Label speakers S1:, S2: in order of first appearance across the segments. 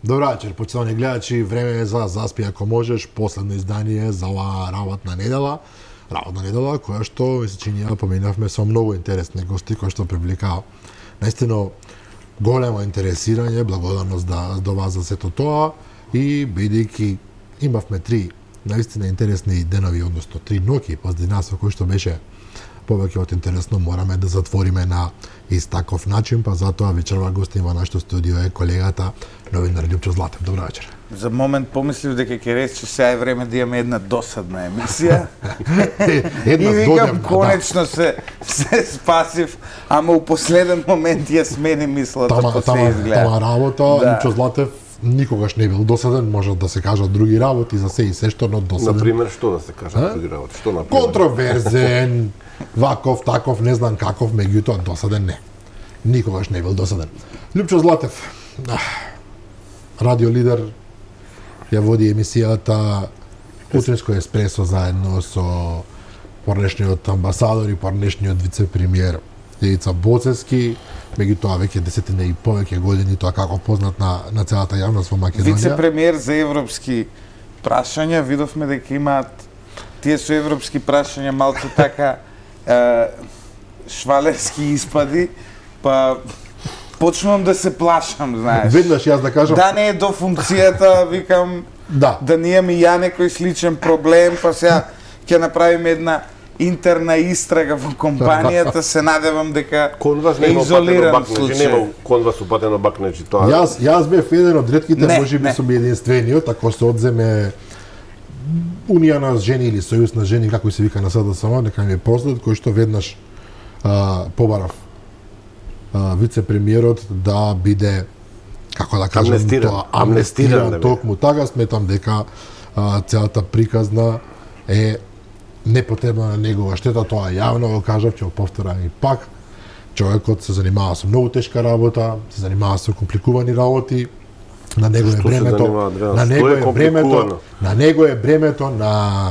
S1: Добра вечер, почитувани гледачи, време е за Заспи ако можеш, последно издание за оваа работна недела, која што ми се чини поминавме со многу интересни гости кои што привлекаа наистина големо интересирање, благодарност до вас за сето тоа и бидејќи имавме три наистина интересни денови, односно три ноќи позади нас, кој што беше повеќе од интересно, мораме да затвориме на ист таков начин, па затоа вечерва гостин во нашето студио е колегата новинар Лјупчо Златев. Добра вечер.
S2: За момент помислив дека ќе рече сега е време да имаме една досадна емисија. И викам, конечно се спасив, ама у последен момент ја смени мислата по се изгледа.
S1: Тама работа, Лјупчо Златев никогаш не бил досаден, може да се кажат други работи за се и се што, но досаден.
S3: Например, што да се кажат други работи? Што например?
S1: Контроверзен, ваков, таков, не знам каков, меѓутоа досаден не. Никогаш не бил досаден. Лјупчо Златев, радио лидер, ја води емисијата Утринско еспресо заедно со порнешниот амбасадор и порнешниот вице-премиер Јевица Боцевски, меѓутоа веќе десетина и повеќе години, тоа како познат на целата јавност во Македонија.
S2: Вице-премиер за европски прашања, видовме дека имаат тие со европски прашања малку така швалерски испади, па почнувам да се плашам, знаеш.
S1: Веднаш јас да кажам.
S2: Да не е до функцијата, викам, да не имам и ја некој сличен проблем, па сега ќе направиме една интерна истрага во компанијата, се надевам дека е изолиран случај.
S3: Кон вас упатено бакнеџи тоа.
S1: Јас бев еден од ретките, можеби сум единствениот, ако се одземе Унија на жени или Сојуз на жени, како се вика на СДСМ, нека ми е простат, кој што веднаш побарав вице-премиерот да биде, како да кажам, амнестиран токму така. Сметам дека целата приказна е непотребна на негова штета, тоа јавно го кажав, ќе го повторам и пак. Човекот се занимава со многу тешка работа, се занимава со компликувани работи, на него е бремето, на бремето на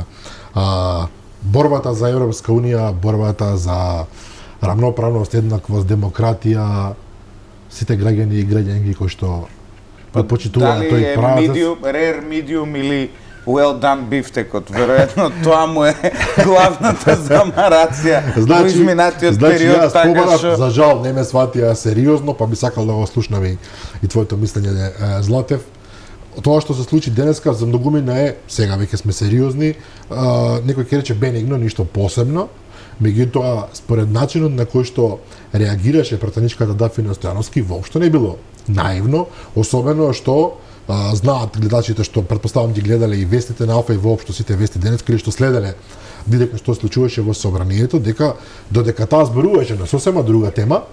S1: борбата за Европска унија, борбата за рамноправност, еднаквост, демократија, сите граѓани и граѓанки кои што почитуваат тој правец.
S2: Дали е rare, medium или well done бифтекот, веројатно тоа му е главната замарација во изминатиот период, така што...
S1: За жал не ме сватија сериозно, па би сакал да го слушнам и твоето мислење, Златев. Тоа што се случи денеска за многумина е, сега веќе сме сериозни, некој ќе рече бенигно, ништо посебно, меѓутоа според начинот на кој што реагираше пратеничката Дафина Стојановски, воопшто не било наивно, особено што знаат гледачите што претпоставам ги гледале и вестите на Алфа и воопшто сите вести денеска или што следеле директно што се случуваше во собранието, дека додека таа зборуваше на сосема друга тема,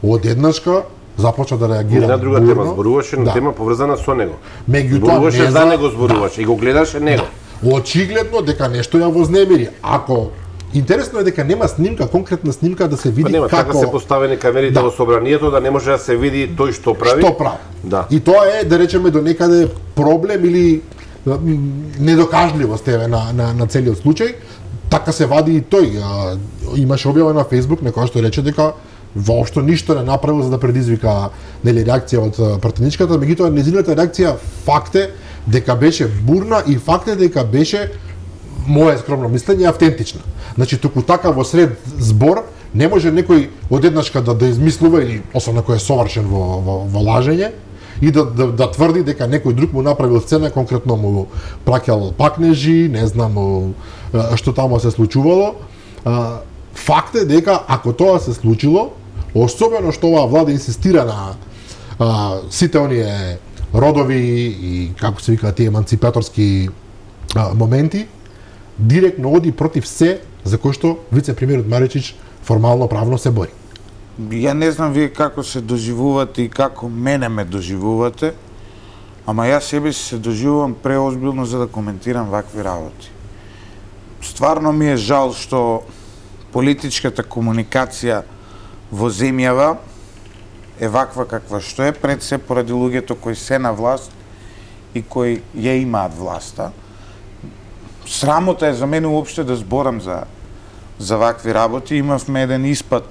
S1: одеднашка започна да реагира.
S3: Не на друга тема, зборуваше на тема поврзана со него. Зборуваше за него, зборуваше и го гледаше него.
S1: Очигледно дека нешто ја вознемири. Ако интересно е дека нема снимка, конкретна снимка да се види
S3: нема,
S1: како...
S3: Така се поставени камерите во собранието да не може да се види тој што прави.
S1: Што прави.
S3: Да.
S1: И тоа е, да речеме, до некаде проблем или недокажливост на целиот случај. Така се вади и тој. Имаше објава на Facebook некоја што рече дека воопшто ништо не направил за да предизвика реакција од пратеничката, меѓутоа нејзината реакција факт е дека беше бурна и факт е дека беше, моје скромно мислење, автентична. Значи, туку така во сред збор не може некој одеднашка да измислува, или особено кој е совршен во лажење, и да тврди дека некој друг му направил сцена, конкретно му праќал пакнежи, не знам што таму се случувало. Факт е дека ако тоа се случило, особено што оваа влада инсистира на сите оние родови и како се викаат тие еманципаторски моменти, директно оди против се за кој што вице-премиерот Маричич формално правно се бори.
S2: Ја не знам вие како се доживувате и како мене ме доживувате, ама јас себе се доживувам преозбилно за да коментирам вакви работи. Стварно ми е жал што политичката комуникација во земјава е ваква каква што е, пред се поради луѓето кои се на власт и кои ја имаат власта. Срамота е за мене уопште да зборам за вакви работи. Имавме еден испад,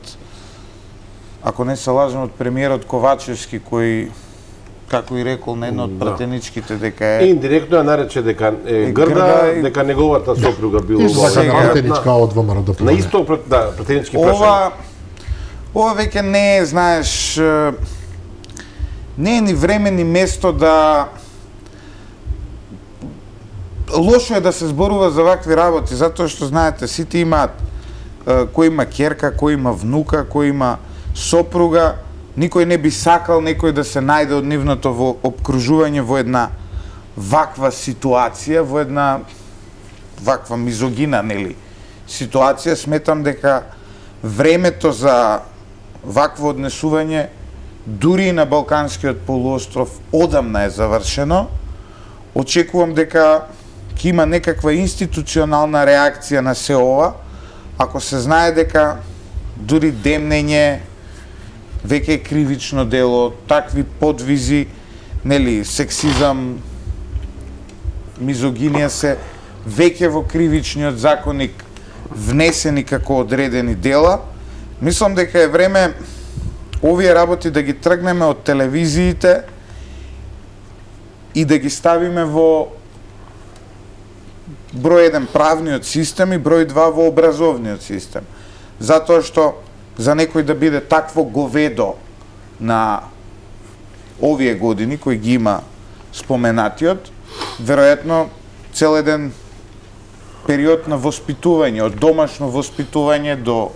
S2: ако не се лажам, од премиерот Ковачевски, кој како и рекол на едно од пратеничките дека е
S3: индиректно ја нарече дека е грда, дека неговата сопруга била
S1: пратеничка од ВМРО.
S3: На исто пратенички прашања.
S2: Ова веќе не е, знаеш, не е ни време ни место да лошо е да се зборува за вакви работи, затоа што знаете, сите имаат кој има ќерка, кој има внука, кој има сопруга, никој не би сакал некој да се најде од нивното во обкружување во една ваква ситуација, во една ваква мизогина, нели, ситуација. Сметам дека времето за вакво однесување дури и на Балканскиот полуостров одамна е завршено. Очекувам дека ќе има некаква институционална реакција на се ова, ако се знае дека дури демнење веќе е кривично дело, такви подвизи, нели, сексизам, мизогинија се веќе во кривичниот законник внесени како одредени дела. Мислам дека е време овие работи да ги тргнеме од телевизиите и да ги ставиме во број 1 правниот систем и број 2 во образовниот систем. Затоа што за некој да биде такво говедо на овие години кои ги има споменатиот, веројатно цел еден период на воспитување, од домашно воспитување до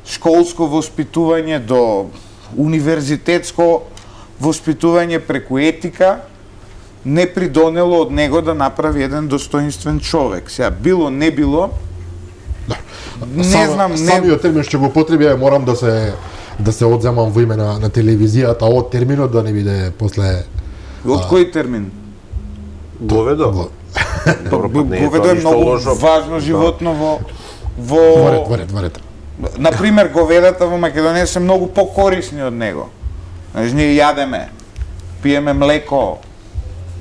S2: школско воспитување, до универзитетско воспитување преку етика, не придонело од него да направи еден достоинствен човек. Сега, било, не било, не знам, не...
S1: Самиот термин што го потребија, морам да се одземам во име на телевизијата, од терминот да не биде после...
S2: Од кој термин?
S3: Говедо?
S2: Говедо е многу важно животно во...
S1: Варет.
S2: Например, говедата во Македонија се многу покорисни од него. Значи, ние јадеме, пиеме млеко,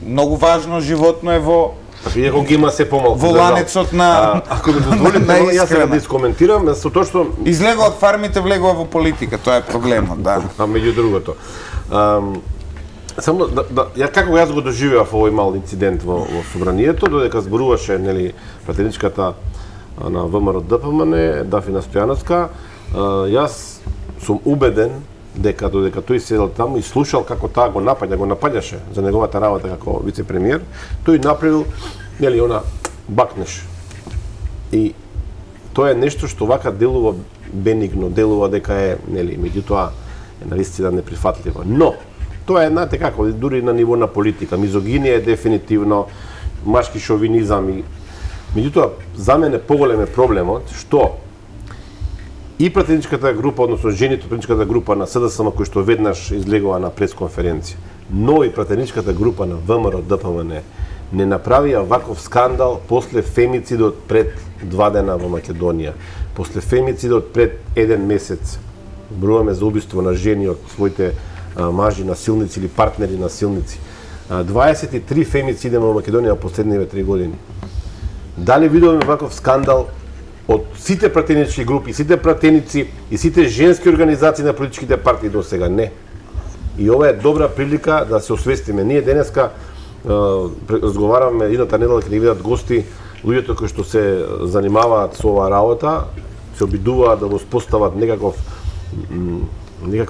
S2: многу важно животно е во...
S3: Иако ги има се помалку.
S2: Во ланецот на...
S3: Ако ми дозволите, јас сега да искоментирам, со тоа што...
S2: Излегува од фармите, влегува во политика, тоа е проблемот, да.
S3: А меѓу другото. Само ја како јас го доживеав овој мал инцидент во собранието, додека зборуваше, нели, пратеничката на ВМРО ДПМН, Дафина Стојановска, јас сум убеден дека додека тој седел таму и слушал како таа го напаѓаше за неговата работа како вице-премиер, тој направил, нели, она бакнеш. И тоа е нешто што вака делува бенигно, делува дека е, нели, меѓутоа е навистина неприфатливо. Но тоа е, знаете како, дури на ниво на политика, мизогинија е дефинитивно, машки шовинизам и меѓутоа за мене поголем е проблемот што и пратеничката група, односно жените од пратеничката група на СДСМ кои што веднаш излегува на пресконференција, но и пратеничката група на ВМРО ДПМН не направија ваков скандал после фемицидот пред 2 дена во Македонија, после фемицидот пред 1 месец. Зборуваме за убиство на жени од своите мажи насилници или партнери насилници. 23 фемициди во Македонија во последниве 3 години. Дали видовме ваков скандал од сите пратенички групи, сите пратеници и сите женски организации на политичките партии до сега? Не. И ова е добра прилика да се освестиме. Ние денеска разговараме, едната недела ќе ни видат гости, луѓето кои што се занимаваат со оваа работа, се обидуваат да го спостават некаква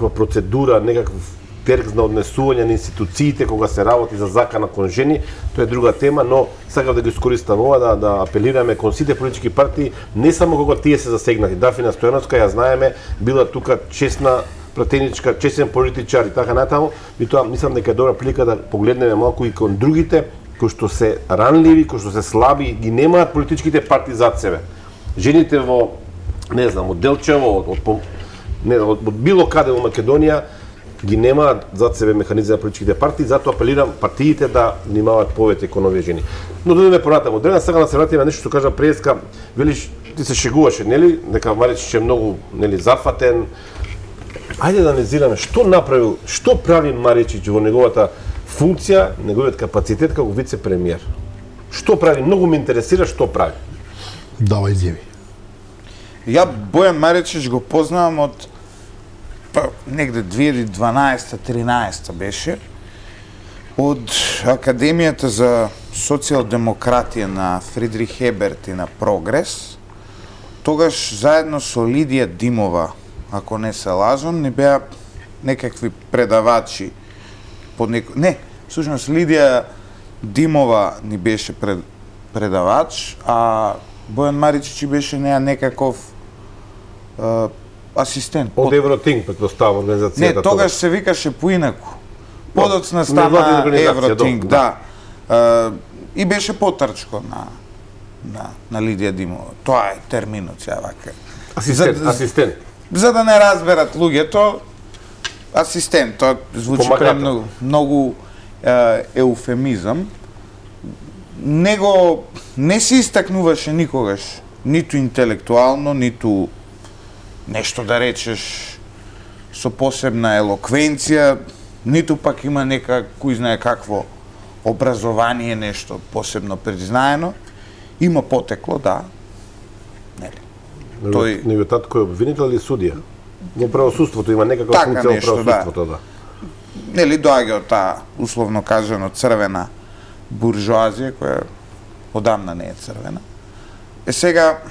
S3: процедура, некаков теркс на однесување на институциите кога се работи за закана кон жени, тоа е друга тема, но сакам да го искористам ова да апелираме кон сите политички партии, не само кога тие се засегнати. Дафина Стојановска, ја знаеме, била тука честна пратеничка, честен политичар и така натаму, и тоа мислам дека е добра прилика да погледнеме малку и кон другите кои што се ранливи, кои што се слаби, ги немаат политичките партии зад себе. Жените во, не знам, од Делчево, од било каде во Македонија, ги немаат зад себе механизми на политичките партии, затоа апелирам партиите да внимаваат повеќе кон овие жени. Но додеме понатаму. Дрена сакам да се вратиме на нешто што кажа преска, велиш, ти се шегуваше, нели? Дека Маричич е многу, нели, зафатен. Ајде да анализираме што направил, што прави Маричич во неговата функција, неговиот капацитет како вице-премиер. Што прави? Многу ме интересира што прави.
S1: Давај изјави.
S2: Ја Бојан Маричич го познавам од негде 2012-13 беше од Академијата за социјалдемократија на Фридрих Еберт и на Прогрес, тогаш заедно со Лидија Димова, ако не се лажам, не беа некакви предавачи Не, всушност Лидија Димова ни беше предавач, а Бојан Маричич беше некаков асистент.
S3: Од Евротинг, предпоставам, организацијата.
S2: Не, тогаш се викаше поинаку. Подоцна стана Евротинг, да. И беше потрчко на Лидија Димова. Тоа е терминот сега вака.
S3: Асистент.
S2: За да не разберат луѓето, асистент, тоа звучи многу еуфемизам. Него не се истакнуваше никогаш, ниту интелектуално, ниту нешто да речеш со посебна елоквенција, ниту пак има кој знае какво образование, нешто посебно признаено. Има потекло, да. Нели?
S3: Него татко е обвинител или судија? Во правосудството има некаква функција во правосудството, да.
S2: Нели доаѓа од таа, условно кажано, црвена буржоазија, која одамна не е црвена. Сега,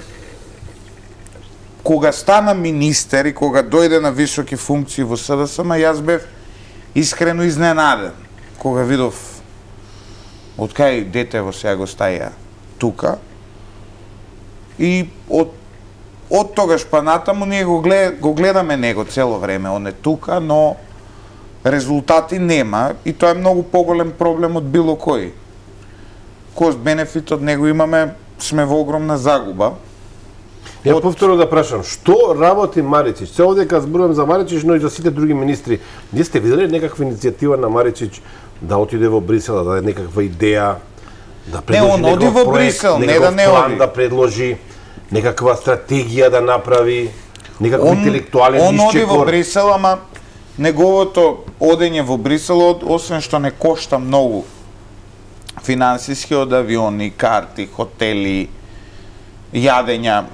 S2: кога стана министер и кога дојде на високи функции во СДСМ, јас бев искрено изненаден, кога видов од кај детево сега го стаја тука, и од тогаш па натаму ние го гледаме него цело време, он е тука, но резултати нема и тоа е многу поголем проблем од било кој. Кост бенефит од него имаме, сме во огромна загуба.
S3: Ја повторно да прашам, што работи Маричич? Се овде кога зборувам за Маричич, но и за сите други министри. Вие сте виделе некаква иницијатива на Маричич да отиде во Брисел, да даде некаква идеја, да предложи некаков проект, некаков план да предложи, некаква стратегија да направи, некаков интелектуален исчекор?
S2: Он оди во Брисел, ама неговото одење во Брисел, освен што не кошта многу финансиски, од авиони, карти, хотели, јадења,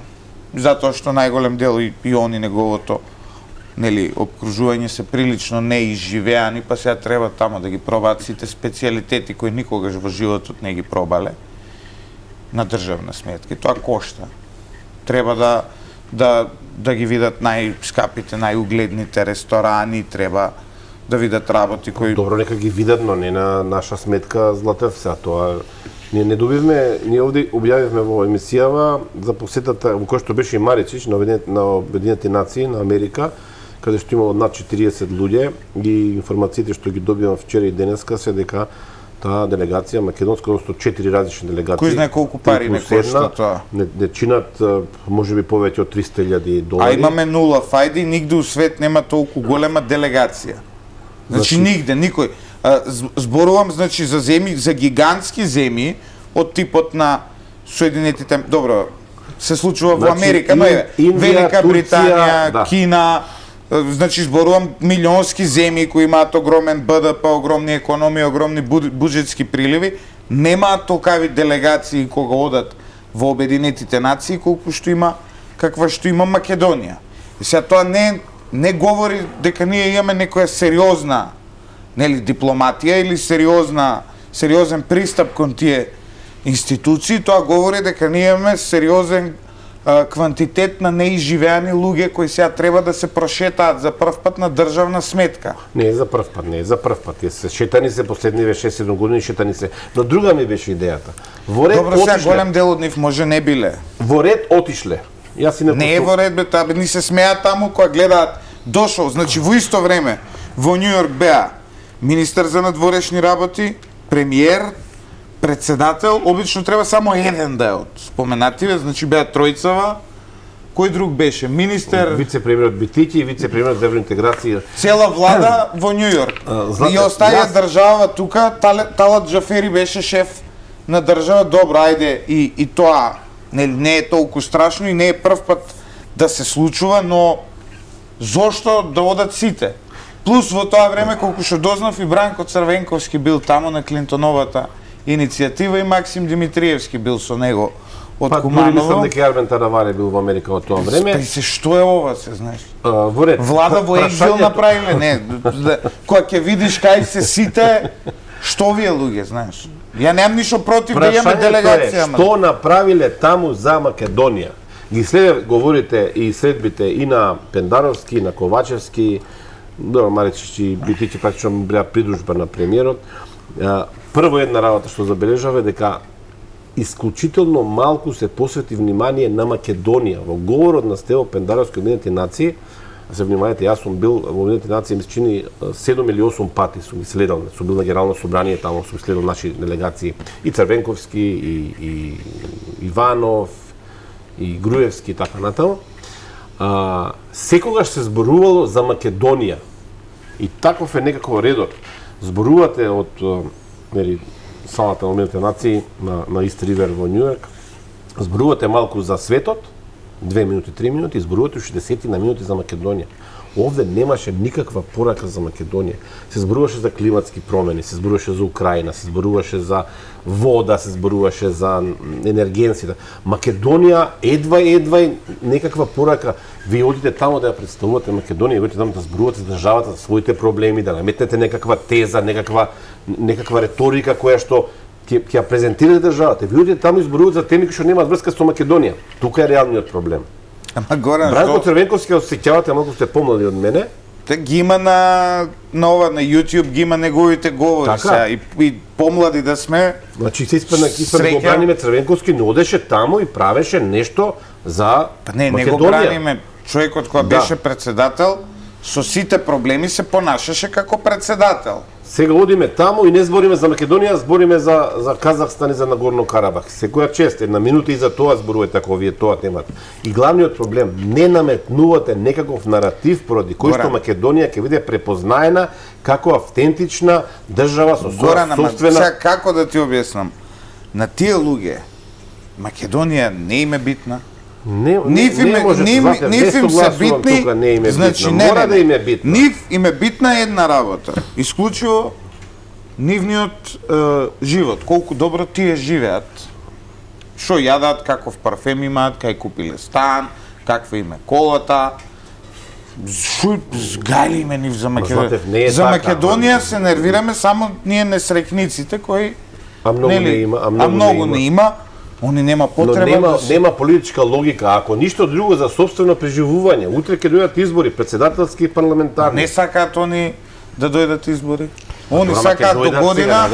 S2: затоа што најголем дел и они неговото обкружување се прилично неизживеани, па сега треба тамо да ги пробаат сите специјалитети кои никогаш во животот не ги пробале на државна сметка. Тоа кошта. Треба да ги видат најскапите, најугледните ресторани, треба да видат работи кои...
S3: Добро, нека ги видат, но не на наша сметка, Златев, сега тоа... Ние не добивме, ние овде објавивме во емисијава за посетата, во која што беше и Маричич на Обединетите нации, на Америка, каде што имало над 40 луѓе, и информациите што ги добивам вчера и денеска се дека таа делегација македонска, односно 4 различни делегации.
S2: Кој знае колку пари не кошта тоа?
S3: Не чинат можеби повеќе од $300,000.
S2: А имаме нула фајди, нигде у свет нема толку голема делегација. Значи нигде, никој. Зборувам, значи, за земји, за гигантски земји од типот на Соединетите, добро, се случува во Америка, но е Велика Британија, Кина, значи зборувам милионски земји кои имаат огромен БДП, огромни економии, огромни буџетски приливи, немаат толкави делегации кога одат во Обединетите нации колку што има каква што има Македонија. И сега тоа не говори дека ние имаме некоја сериозна дипломатија или сериозен пристап кон тие институции, тоа говори дека ние имаме сериозен квантитет на неизживеани луѓе кои сега треба да се прошетаат за прв пат на државна сметка.
S3: Не е за прв пат, не е за прв пат. Шетани се последниве 6-7 години, шетани се. Но друга ми беше идејата. Во ред
S2: добро, сега голем дел од нив може не биле.
S3: Во ред отишле.
S2: Не е во ред, бе, таа ни се смеа таму кога гледаат дошол, значи во исто време во Њу Јорк беа министер за надворешни работи, премиер, председател, обично треба само еден да е од споменативе, значи беа тројцава. Кој друг беше? Министер,
S3: вице-премиерот Битики и вице-премиерот за евроинтеграција.
S2: Цела влада во Њу Јорк. И остаја држава тука, Талат Джафери беше шеф на држава. Добро, ајде, и тоа не е толку страшно и не е прв пат да се случува, но зошто да одат сите? Плюс во тоа време, колку што дознав, и Бранко Црвенковски бил таму на Клинтоновата иницијатива и Максим Димитриевски бил со него од Куманово.
S3: Па, мислам дека Армен Тараваре бил во Америка во тоа време.
S2: Што е ова, се знаеш?
S3: Во ред.
S2: Влада во екзил направиле, не. Кога ќе видиш кај се сите, Што вие луѓе, знаеш? Ја немам ништо против да имаме делегација.
S3: Што направиле таму за Македонија? Ги говорите и следбите и на Пендаровски, и на Ковачевски, добро, Маречки битики практично била придружба на премиерот. Прво една работа што забележава дека исклучително малку се посвети внимание на Македонија. Во говорот на Стево Пендаровски од Обединетите нации, се внимавате, јас сум бил во Обединетите нации, ми се чини 7 или 8 пати сум ги следал. Сум бил на Генерално собрание, таму сум следал наши делегации и Црвенковски, и Иванов, и Груевски и така натаму. Секогаш се зборувало за Македонија. И таков е некако редот. Зборувате од салата на Обединетите нации на Ист Ривер во Њујорк, зборувате малку за светот, 2 минути, 3 минути, зборувате уште 10 на минути за Македонија. Овде немаше никаква порака за Македонија. Се зборуваше за климатски промени, се зборуваше за Украина, се зборуваше за вода, се зборуваше за енергенците. Македонија едва некаква порака. Вие одите таму да ја представувате Македонија, одите таму да зборувате за државата, за своите проблеми, да наметнете некаква теза, некаква реторика која што ќе ја презентирате државата. Вие одите таму и зборувате за теми кои што немаат врска со Македонија. Тука е реалниот проблем.
S2: Ама Горан,
S3: Бранко Црвенковски, ако се сеќавате, малку сте помлади од мене.
S2: Ги има на YouTube, ги има неговите говори сега и помлади да сме.
S3: Значи се испадна да го браниме Црвенковски, но одеше таму и правеше нешто за Македонија.
S2: Не го браниме. Човекот кој беше председател, со сите проблеми се понашаше како председател.
S3: Сега одиме таму и не збориме за Македонија, збориме за Казахстан и за Нагорно Карабах. Секоја чест, една минута и за тоа зборувате ако вие тоа темата. И главниот проблем, не наметнувате некаков наратив поради кој што Македонија ќе биде препознаена како автентична држава со собствена.
S2: Сега како да ти објаснам? На тие луѓе Македонија не им е битна. Нив им се битни, значи
S3: мора да им е битна.
S2: Нив им е битна една работа. Исклучиво нивниот живот, колку добро тие живеат. Што јадат, каков парфем имаат, кај купиле стан, каква им е колата. Згајли ме нив за Македонија. За Македонија се нервираме само ние несрекниците кои многу не има. Они нема потреба.
S3: Но нема политичка логика, ако ништо друго за собствено преживување. Утре ќе дојдат избори, председателски и парламентарни.
S2: Не сакаат они да дојдат избори. Они сакаат до година,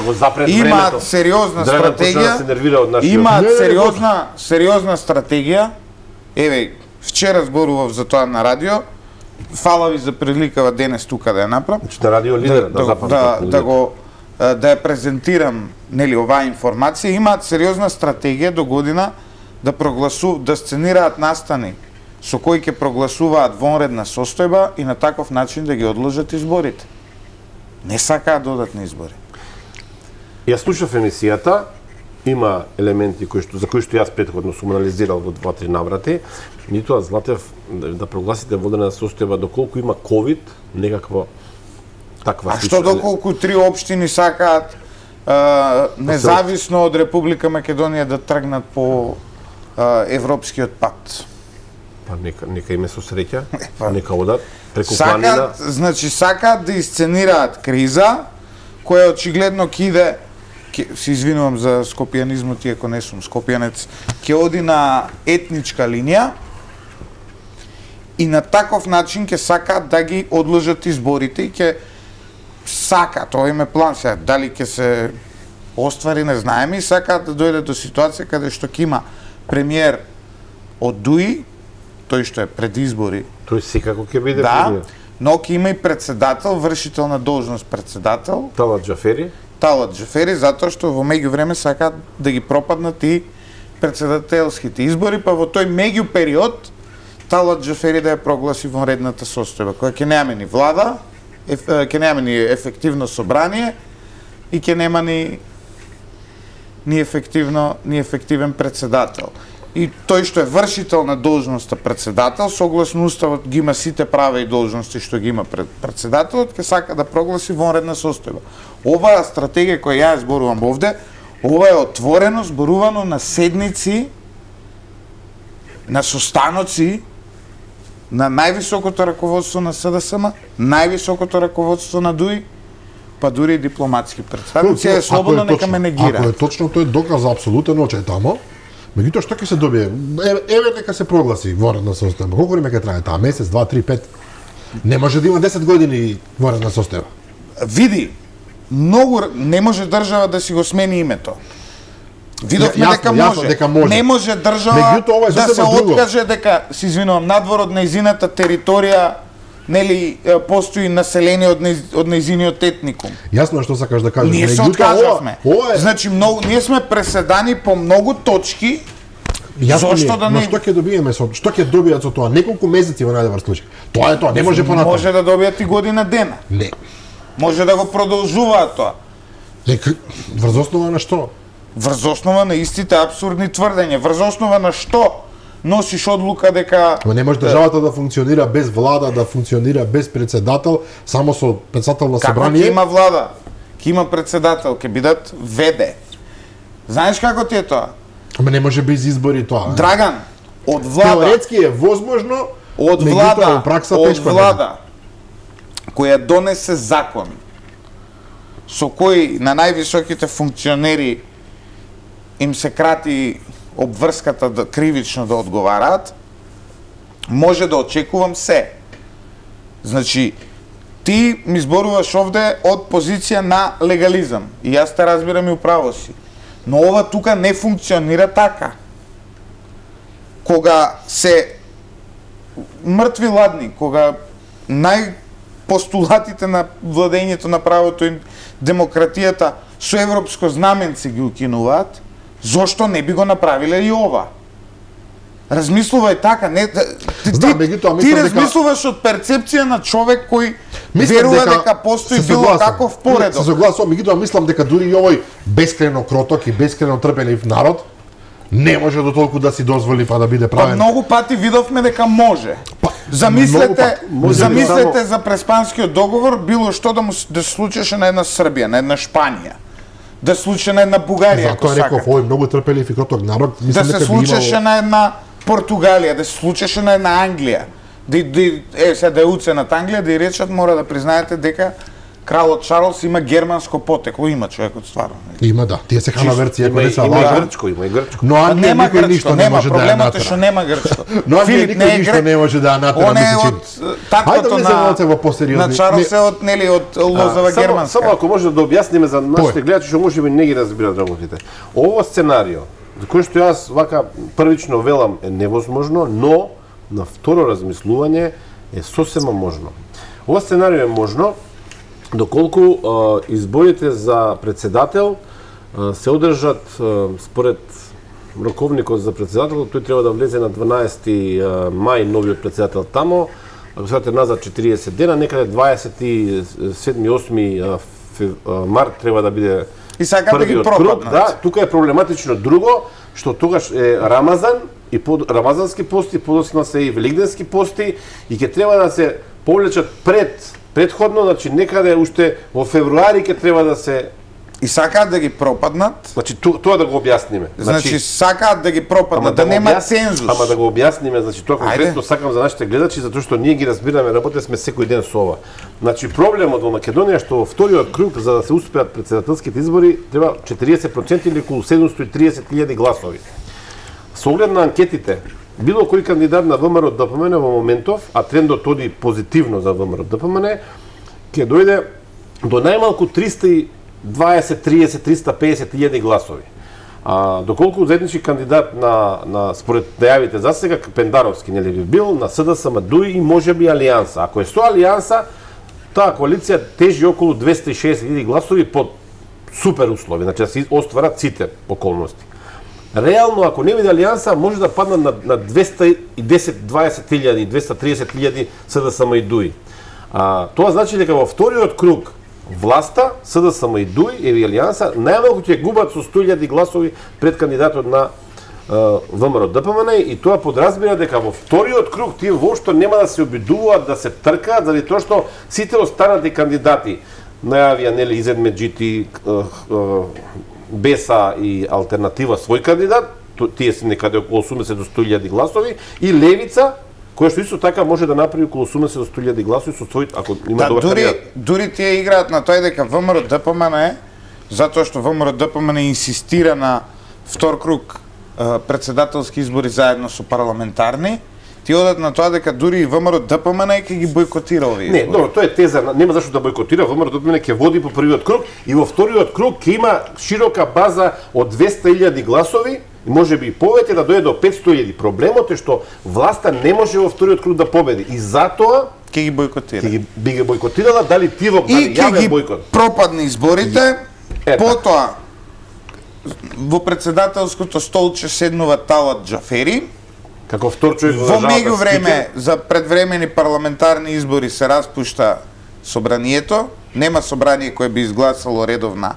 S2: имаат сериозна стратегија. Имаат сериозна стратегија. Еве, вчера зборував за тоа на радио. Фала ви за приликава денес тука да ја направам.
S3: На радио Лидер,
S2: да ја презентирам, нели, оваа информација, имаат сериозна стратегија до година да сценираат настани со кои ќе прогласуваат вонредна состојба и на таков начин да ги одложат изборите. Не сакаат да одат на избори.
S3: Ја слушав емисијата, има елементи за кои што јас претходно сум анализирал во 2-3 наврати. Нитоа Златев да прогласите вонредна состојба доколку има ковид, некакво таква.
S2: А што доколку 3 општини сакаат независно од Република Македонија да тргнат по европскиот пат?
S3: Па нека име со среќа, нека одат преку планина.
S2: Значи сакаат даисценираат криза која очигледно ќе иде, се извинувам за скопијанизмот, иако не сум скопијанец, ќе оди на етничка линија и на таков начин ќе сакаат да ги одложат изборите и ќе сакаат, тоа им е план сега, дали ќе се оствари не знаеме, и сакаат да дојде до ситуација каде што ќе има премиер од ДУИ, тој што е пред избори.
S3: Тој секако ќе биде премиер.
S2: Но ќе има и председател, вршител на должност председател.
S3: Талат
S2: Џафери, затоа што во меѓувреме сакаат да ги пропаднат и председателските избори, па во тој меѓу период Талат Џафери да ја прогласи вонредната состојба, која ќе немаме ни влада, ќе нема ни ефективно собрание и ќе нема ни ефективен председател. И тој што е вршител на должноста председател, согласно уставот ги има сите права и должности што ги има председателот, ќе сака да прогласи вонредна состојба. Оваа стратегија која ја зборувам овде, ова е отворено зборувано на седници, на состаноци на највисокото раководство на СДСМ, највисокото раководство на ДУИ, па дури и дипломатски представници, е слободно нека ме негира.
S1: Ако е точно, тој доказ абсолютен очај тамо. Меѓутоа што ќе се добие? Еве нека се прогласи воредна состојба. Колку време ќе трае таа? Месец, 2, 3, 5? Не може да има 10 години воредна состојба.
S2: Види, многу не може држава да си го смени името. Видовме дека може.
S1: Дека може.
S2: Не може држава да се откаже дека, се извинувам, надвор од нејзината територија, нели, постои население од нејзиниот етникум.
S1: Јасно е што сакаш да кажеш.
S2: Ние се откажавме. Значи, ние сме преседани по многу точки. Зошто да
S1: не? Но
S2: не?
S1: што ќе добиеме што ќе добијат со тоа? Неколку месеци во најдобар случај. Тоа е тоа, не може понатаму.
S2: Може да добијат и година дена.
S1: Не.
S2: Може да го продолжуваат тоа.
S1: Врз основа на што?
S2: Врз основа на истите абсурдни тврдења. Врз основа на што носиш одлука дека...
S1: Но не може државата да функционира без влада, да функционира без председател, само со председател на собрание.
S2: Како ќе има влада? Ќе има председател, ќе бидат ВД. Знаеш како ти е тоа?
S1: Ама не може без избори тоа.
S2: Драган, од влада...
S1: Теоретски е возможно,
S2: од влада која донесе закон со кој на највисоките функционери им се крати обврската да кривично да одговараат, може да очекувам се. Значи, ти ми зборуваш овде од позиција на легализам. И јас те разбирам и управо си. Но ова тука не функционира така. Кога се мртви ладни, кога постулатите на владењето на правото и демократијата со европско знаменце ги укинуваат, зошто не би го направиле и ова? Размислувај така, не ти размислуваш од перцепција на човек кој верува дека постои било каков поредок.
S1: Се согласувам, меѓутоа мислам дека дури и овој бескрајно кроток и бескрајно трпелив народ не може до толку да си дозволи па да биде правен.
S2: Па многу пати видовме дека може. Замислете за Преспанскиот договор, било што да се случеше на една Србија, на една Шпанија, да се случи на една Бугарија, ако
S1: сакате. Затоа реков, овој многу трпелив и кроток народ,
S2: да се случеше на една Португалија, да се случеше на една Англија. Сега да е уценат Англија, да и речат, мора да признаете дека кралот Чарлс има германско потекло, има човекот стварно.
S1: Има, да. Тие се ханаверци, ако не се
S3: лажат. Има и грчко.
S1: Но Англија никој ништо не може да ја натера.
S2: Проблемот е што нема грчко.
S1: Но Англија никој ништо не може да ја натера.
S2: Он е од таткото на Чарлс е од, нели, од лозава германска.
S3: Само ако може да објасниме за нашите гледачи што можеби не ги разбираат работите. Ово сценарио, за кој што јас вака првично велам е невозможно, но на второ размислување е сосема можно. Ова сценарио е можно доколку изборите за председател се одржат според роковникот за председател, тој треба да влезе на 12 мај новиот председател тамо, ако се назад 40 дена, некаде 27-8 март треба да биде
S2: и сакат да ги пропаднат.
S3: Да, тука е проблематично друго, што тогаш е Рамазан и рамазански пости, подоцна се и великденски пости и ќе треба да се повлечат предходно, значи некаде уште во февруари ќе треба да се
S2: и сакаат да ги пропаднат.
S3: Значи тоа да го објасниме.
S2: Значи сакаат да ги пропаднат, да нема цензус.
S3: Ама да го објасниме, значи тоа конкретно сакам за нашите гледачи затоа што ние ги разбираме, работиме сме секој ден со ова. Значи проблемот во Македонија што во вториот круг за да се успеат претседателските избори треба 40% или околу 730.000 гласови. Со оглед на анкетите, било кој кандидат на ВМРО ДПМН во моментов, а трендот оди позитивно за ВМРО ДПМН, ќе дојде до најмалку 320-350.000 гласови. Доколку заеднички кандидат на според најавите за сега Пендаровски нели би бил на СДСМ ДУИ и можеби Алијанса. Ако е со Алијанса, таа коалиција тежи околу 260.000 гласови под супер услови, значи да се остварат сите околности. Реално, ако не биде Алијанса, може да паднат на 210-20.000, 230.000 СДСМ и ДУИ. Тоа значи дека во вториот круг власта, СДСМ и ДУИ или Алијанса, најмалку ќе губат со 100.000 гласови пред кандидатот на ВМРО ДПМН и тоа подразбира дека во вториот круг тие воопшто нема да се обидуваат да се тркаат заради тоа што сите останати кандидати најавија нели Изет Меджити, Беса и Алтернатива свој кандидат, тие се некаде околу 80 до 100.000 гласови, и Левица кој што исто така може да направи околу 80 до 100.000 гласови со свој, ако има добар кандидат.
S2: Дури тие играат на тој дека ВМРО ДПМН затоа што ВМРО ДПМН инсистира на втор круг председателски избори заедно со парламентарни, ти одат на тоа дека дури и ВМРО ДПМН ќе ги бойкотира овие избори.
S3: Не, добро, тоа е теза, нема зашто да бойкотира, ВМРО ДПМН ќе води по првиот круг и во вториот круг ќе има широка база од 200.000 гласови и може би и повеќе да дојде до 500.000. Проблемот е што власта не може во вториот круг да победи и затоа
S2: ќе ги бойкотира.
S3: Би ги бойкотирала, дали тивок, дали јавен бойкот.
S2: И ќе ги пропадне изборите, потоа во председателското столче седнува Талат Џафери.
S3: Како втор човек
S2: во меѓувреме за предвремени парламентарни избори се распушта собранието, нема собрание кое би изгласало редовна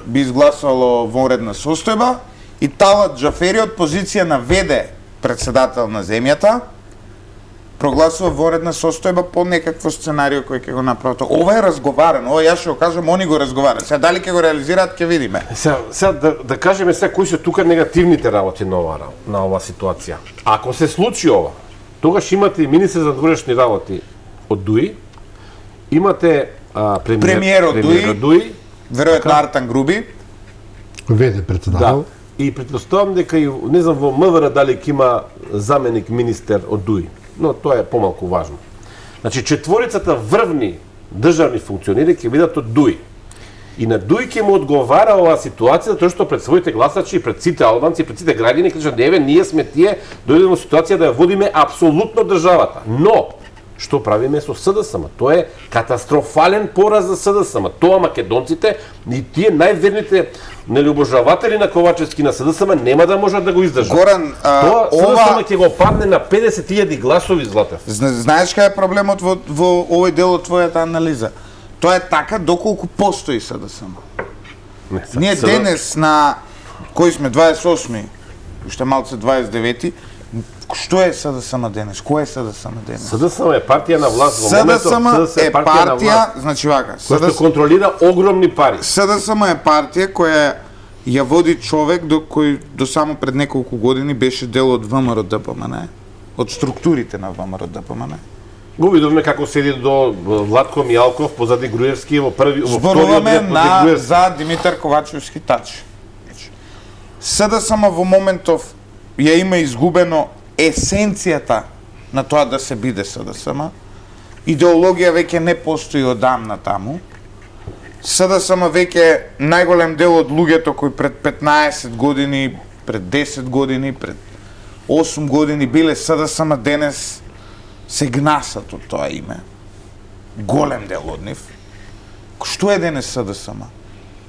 S2: би изгласало вонредна состојба и Талат Џафери од позиција на ВД председател на земјата прогласува вонредна состојба по некакво сценарио кој ќе го направат. Ова е разговарано, ова јас ќе го кажам, они го разговарат. Сега дали ќе го реализираат, ќе видиме.
S3: Сега да кажеме сега кои се тука негативните работи на ова ситуација. Ако се случи ова, тогаш имате и министер за внатрешни работи од ДУИ, имате
S2: премиер од ДУИ, веројатно Артан Груби,
S1: ВД председател.
S3: Да. И претпоставам дека и не знам во МВР дали ќе има заменик министер од ДУИ. Но тоа е помалку важно. Значи, четворицата врвни државни функционери ќе бидат од ДУИ. И на ДУИ ќе му одговара оваа ситуација, тоа што пред своите гласачи, пред сите албанци, пред сите граѓани, кажат, еве, ние сме тие, дојдеме во ситуација да ја водиме апсолутно државата. Но, што правиме со СДСМ? Тоа е катастрофален пораз за СДСМ. Тоа македонците и тие најверните обожаватели на Ковачевски на СДСМ нема да можат да го издржат.
S2: Горан,
S3: тоа СДСМ ќе го падне на 50.000 гласови, Златев.
S2: Знаеш кај е проблемот во овој дел од твојата анализа? Тоа е така доколку постои СДСМ. Ние денес на кој сме 28, уште малце 29, што е СДСМ денес? Кој е СДСМ денес?
S3: СДСМ е партија на власт во моментот.
S2: СДСМ е партија, значи вака,
S3: која што контролира огромни пари.
S2: СДСМ е партија која ја води човек кој до само пред неколку години беше дел од ВМРО ДПМН, од структурите на ВМРО ДПМН.
S3: Го видовме како седи до Владко Мијалков позади Груевски во вториот
S2: зборуваме за Димитар Ковачевски Тач. СДСМ во моментов ја има изгубено есенцијата на тоа да се биде СДСМ. Идеологија веќе не постои одамна таму. СДСМ веќе најголем дел од луѓето кои пред 15 години, пред 10 години, пред 8 години биле СДСМ денес се гнасат од тоа име. Голем дел од нив. Што е денес СДСМ?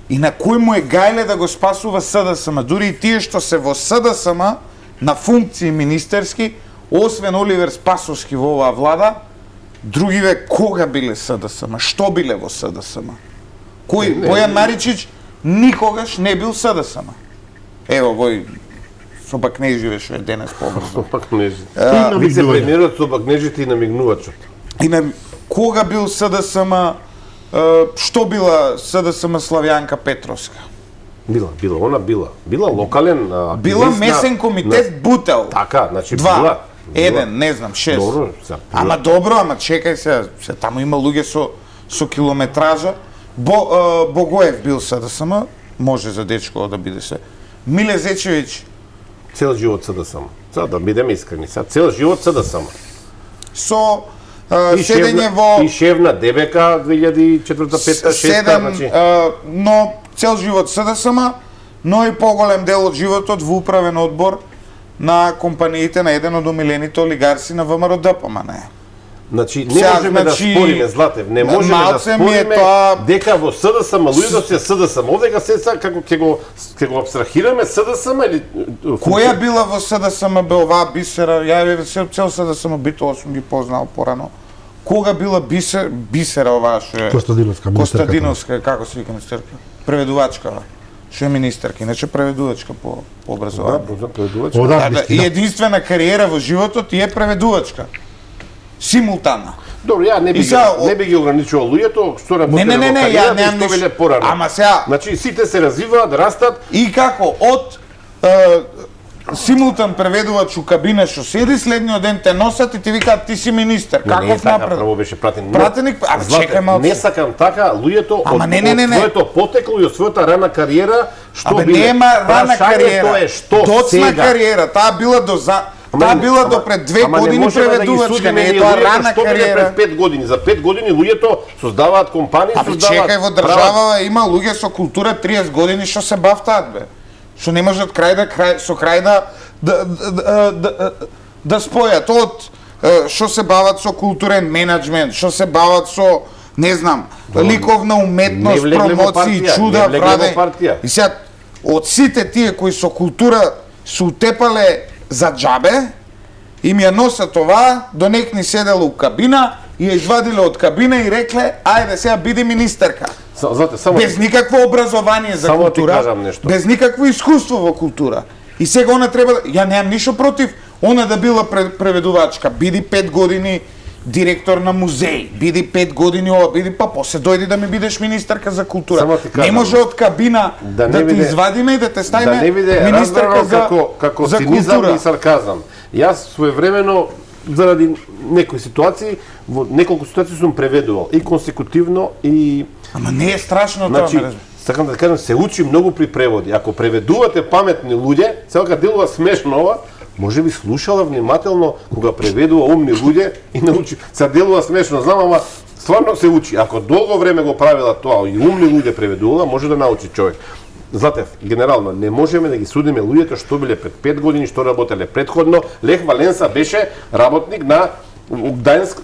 S2: И на кој му е гајле да го спасува СДСМ? Дури и тие што се во СДСМ на функции министерски, освен Оливер Спасовски во оваа влада, другиве кога биле СДСМ? Што биле во СДСМ? Кој? Бојан Маричич никогаш не бил СДСМ. Ево, вој Собакнеживе што е денес побрзо.
S3: Собакнежи. Вице-премиерот Собакнежите и намигнувачот.
S2: Кога бил СДСМ? Што била СДСМ Славјанка Петровска?
S3: Била локален активист.
S2: Била месен комитет Бутел.
S3: Така, значи
S2: била. Еден, не знам, 6.
S3: Добро,
S2: ама добро, ама чекај се таму има луѓе со километража. Богоев бил СДСМ, може за дечко да биде се. Миле Зечевиќ
S3: цел живот СДСМ. Да бидеме искрени, цел живот СДСМ.
S2: Со седење во
S3: и шевна ДБК 2004-2005-2006, значи.
S2: Но цел живот СДСМ, но и поголем дел од животот во управен одбор на компаниите на еден од омилените олигарси на ВМРО ДПМН.
S3: Значи, не можеме да спориме, Златев, не можеме да спориме дека во СДСМ луѓето се СДСМ. Овдека се како ќе го абстрахираме СДСМ или
S2: која била во СДСМ бе оваа Бисера? Ја цел СДСМ битово сум ги познал порано. Кога била Бисера оваа што е Костадиновска, како се вика министерка? Преведувачка. Што е министерка, иначе преведувачка по образование.
S3: Да, преведувачка.
S2: И единствена кариера во животот е преведувачка. Симултана.
S3: Добро, ја не би ги ограничувал луѓето, што работи на кариера и што веле порано.
S2: Ама сега,
S3: значи сите се развиваат, растат
S2: и како од симултан преведувач у кабина што седи, следниот ден те носат и ти викаат ти си министер. Каков напред?
S3: Прво беше пратеник.
S2: Пратеник, чекај малку.
S3: Не сакам така, луѓето од твоето потекло и од својата рана кариера, што биле?
S2: Нема рана кариера.
S3: Тоа е што
S2: доцна
S3: сега.
S2: кариера, таа била до пред 2 години преведувачка, не е тоа рана кариера.
S3: Пред 5 години, за 5 години луѓето создаваат компании, создаваат.
S2: Чекај, во држава има луѓе со култура 30 години што се бавтаат бе. Што не можат крај да спојат од што се бават со културен менеджмент, што се бават со не знам, ликовна уметност, промоции, чуда, враде. И сега од сите тие кои со култура се утепале за џабе, им ја носат това, до некни седело у кабина и ја извадиле од кабина и рекле, ајде сега биди министерка. Без никакво образование за култура, без никакво искуство во култура. И сега она треба, ја немам ништо против, она да била преведувачка, биди 5 години директор на музеј, биди 5 години ова, биди па после дојди да ми бидеш министерка за култура. Не може од кабина да ти извадиме и да те ставиме министерка за култура
S3: и сарказам. Јас своевремено заради некои ситуации, во неколку ситуации сум преведувал и консекутивно и
S2: ама не е страшно тоа,
S3: значи, сакам да кажам, се учи многу при преводи. Ако преведувате паметни луѓе, сега делува смешно ова, може би слушала внимателно кога преведува умни луѓе и научи. Се делува смешно, знам, ама стварно се учи. Ако долго време го правила тоа и умни луѓе преведувала, може да научи човек. Златев, генерално, не можеме да ги судиме луѓето што биле пред 5 години, што работеле предходно. Лех Валенса беше работник на Гдајнск,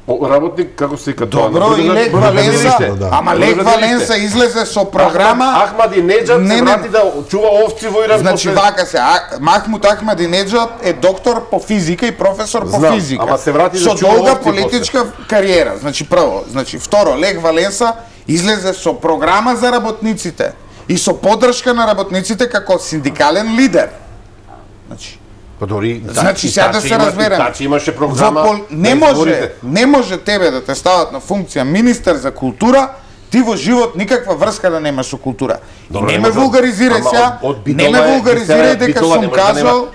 S3: работник, како се вика тоа?
S2: Добро, и Лех Валенса, ама Лех Валенса излезе со програма...
S3: Ахмадинеџад се врати да чува овци во Иран.
S2: Значи, вака се, Махмуд Ахмадинеџад е доктор по физика и професор по физика.
S3: Ама се врати да чува овци.
S2: Со долга политичка кариера. Значи, прво. Значи, второ, Лех Валенса излезе со програма за работниците и со поддршка на работниците како синдикален лидер. Значи,
S3: значи
S2: сега да се разбереме.
S3: Тачи имаше програма.
S2: Не може тебе да те стават на функција министер за култура, ти во живот никаква врска да немаш со култура. И не ме вулгаризирај сега, не ме вулгаризирај дека сум кажал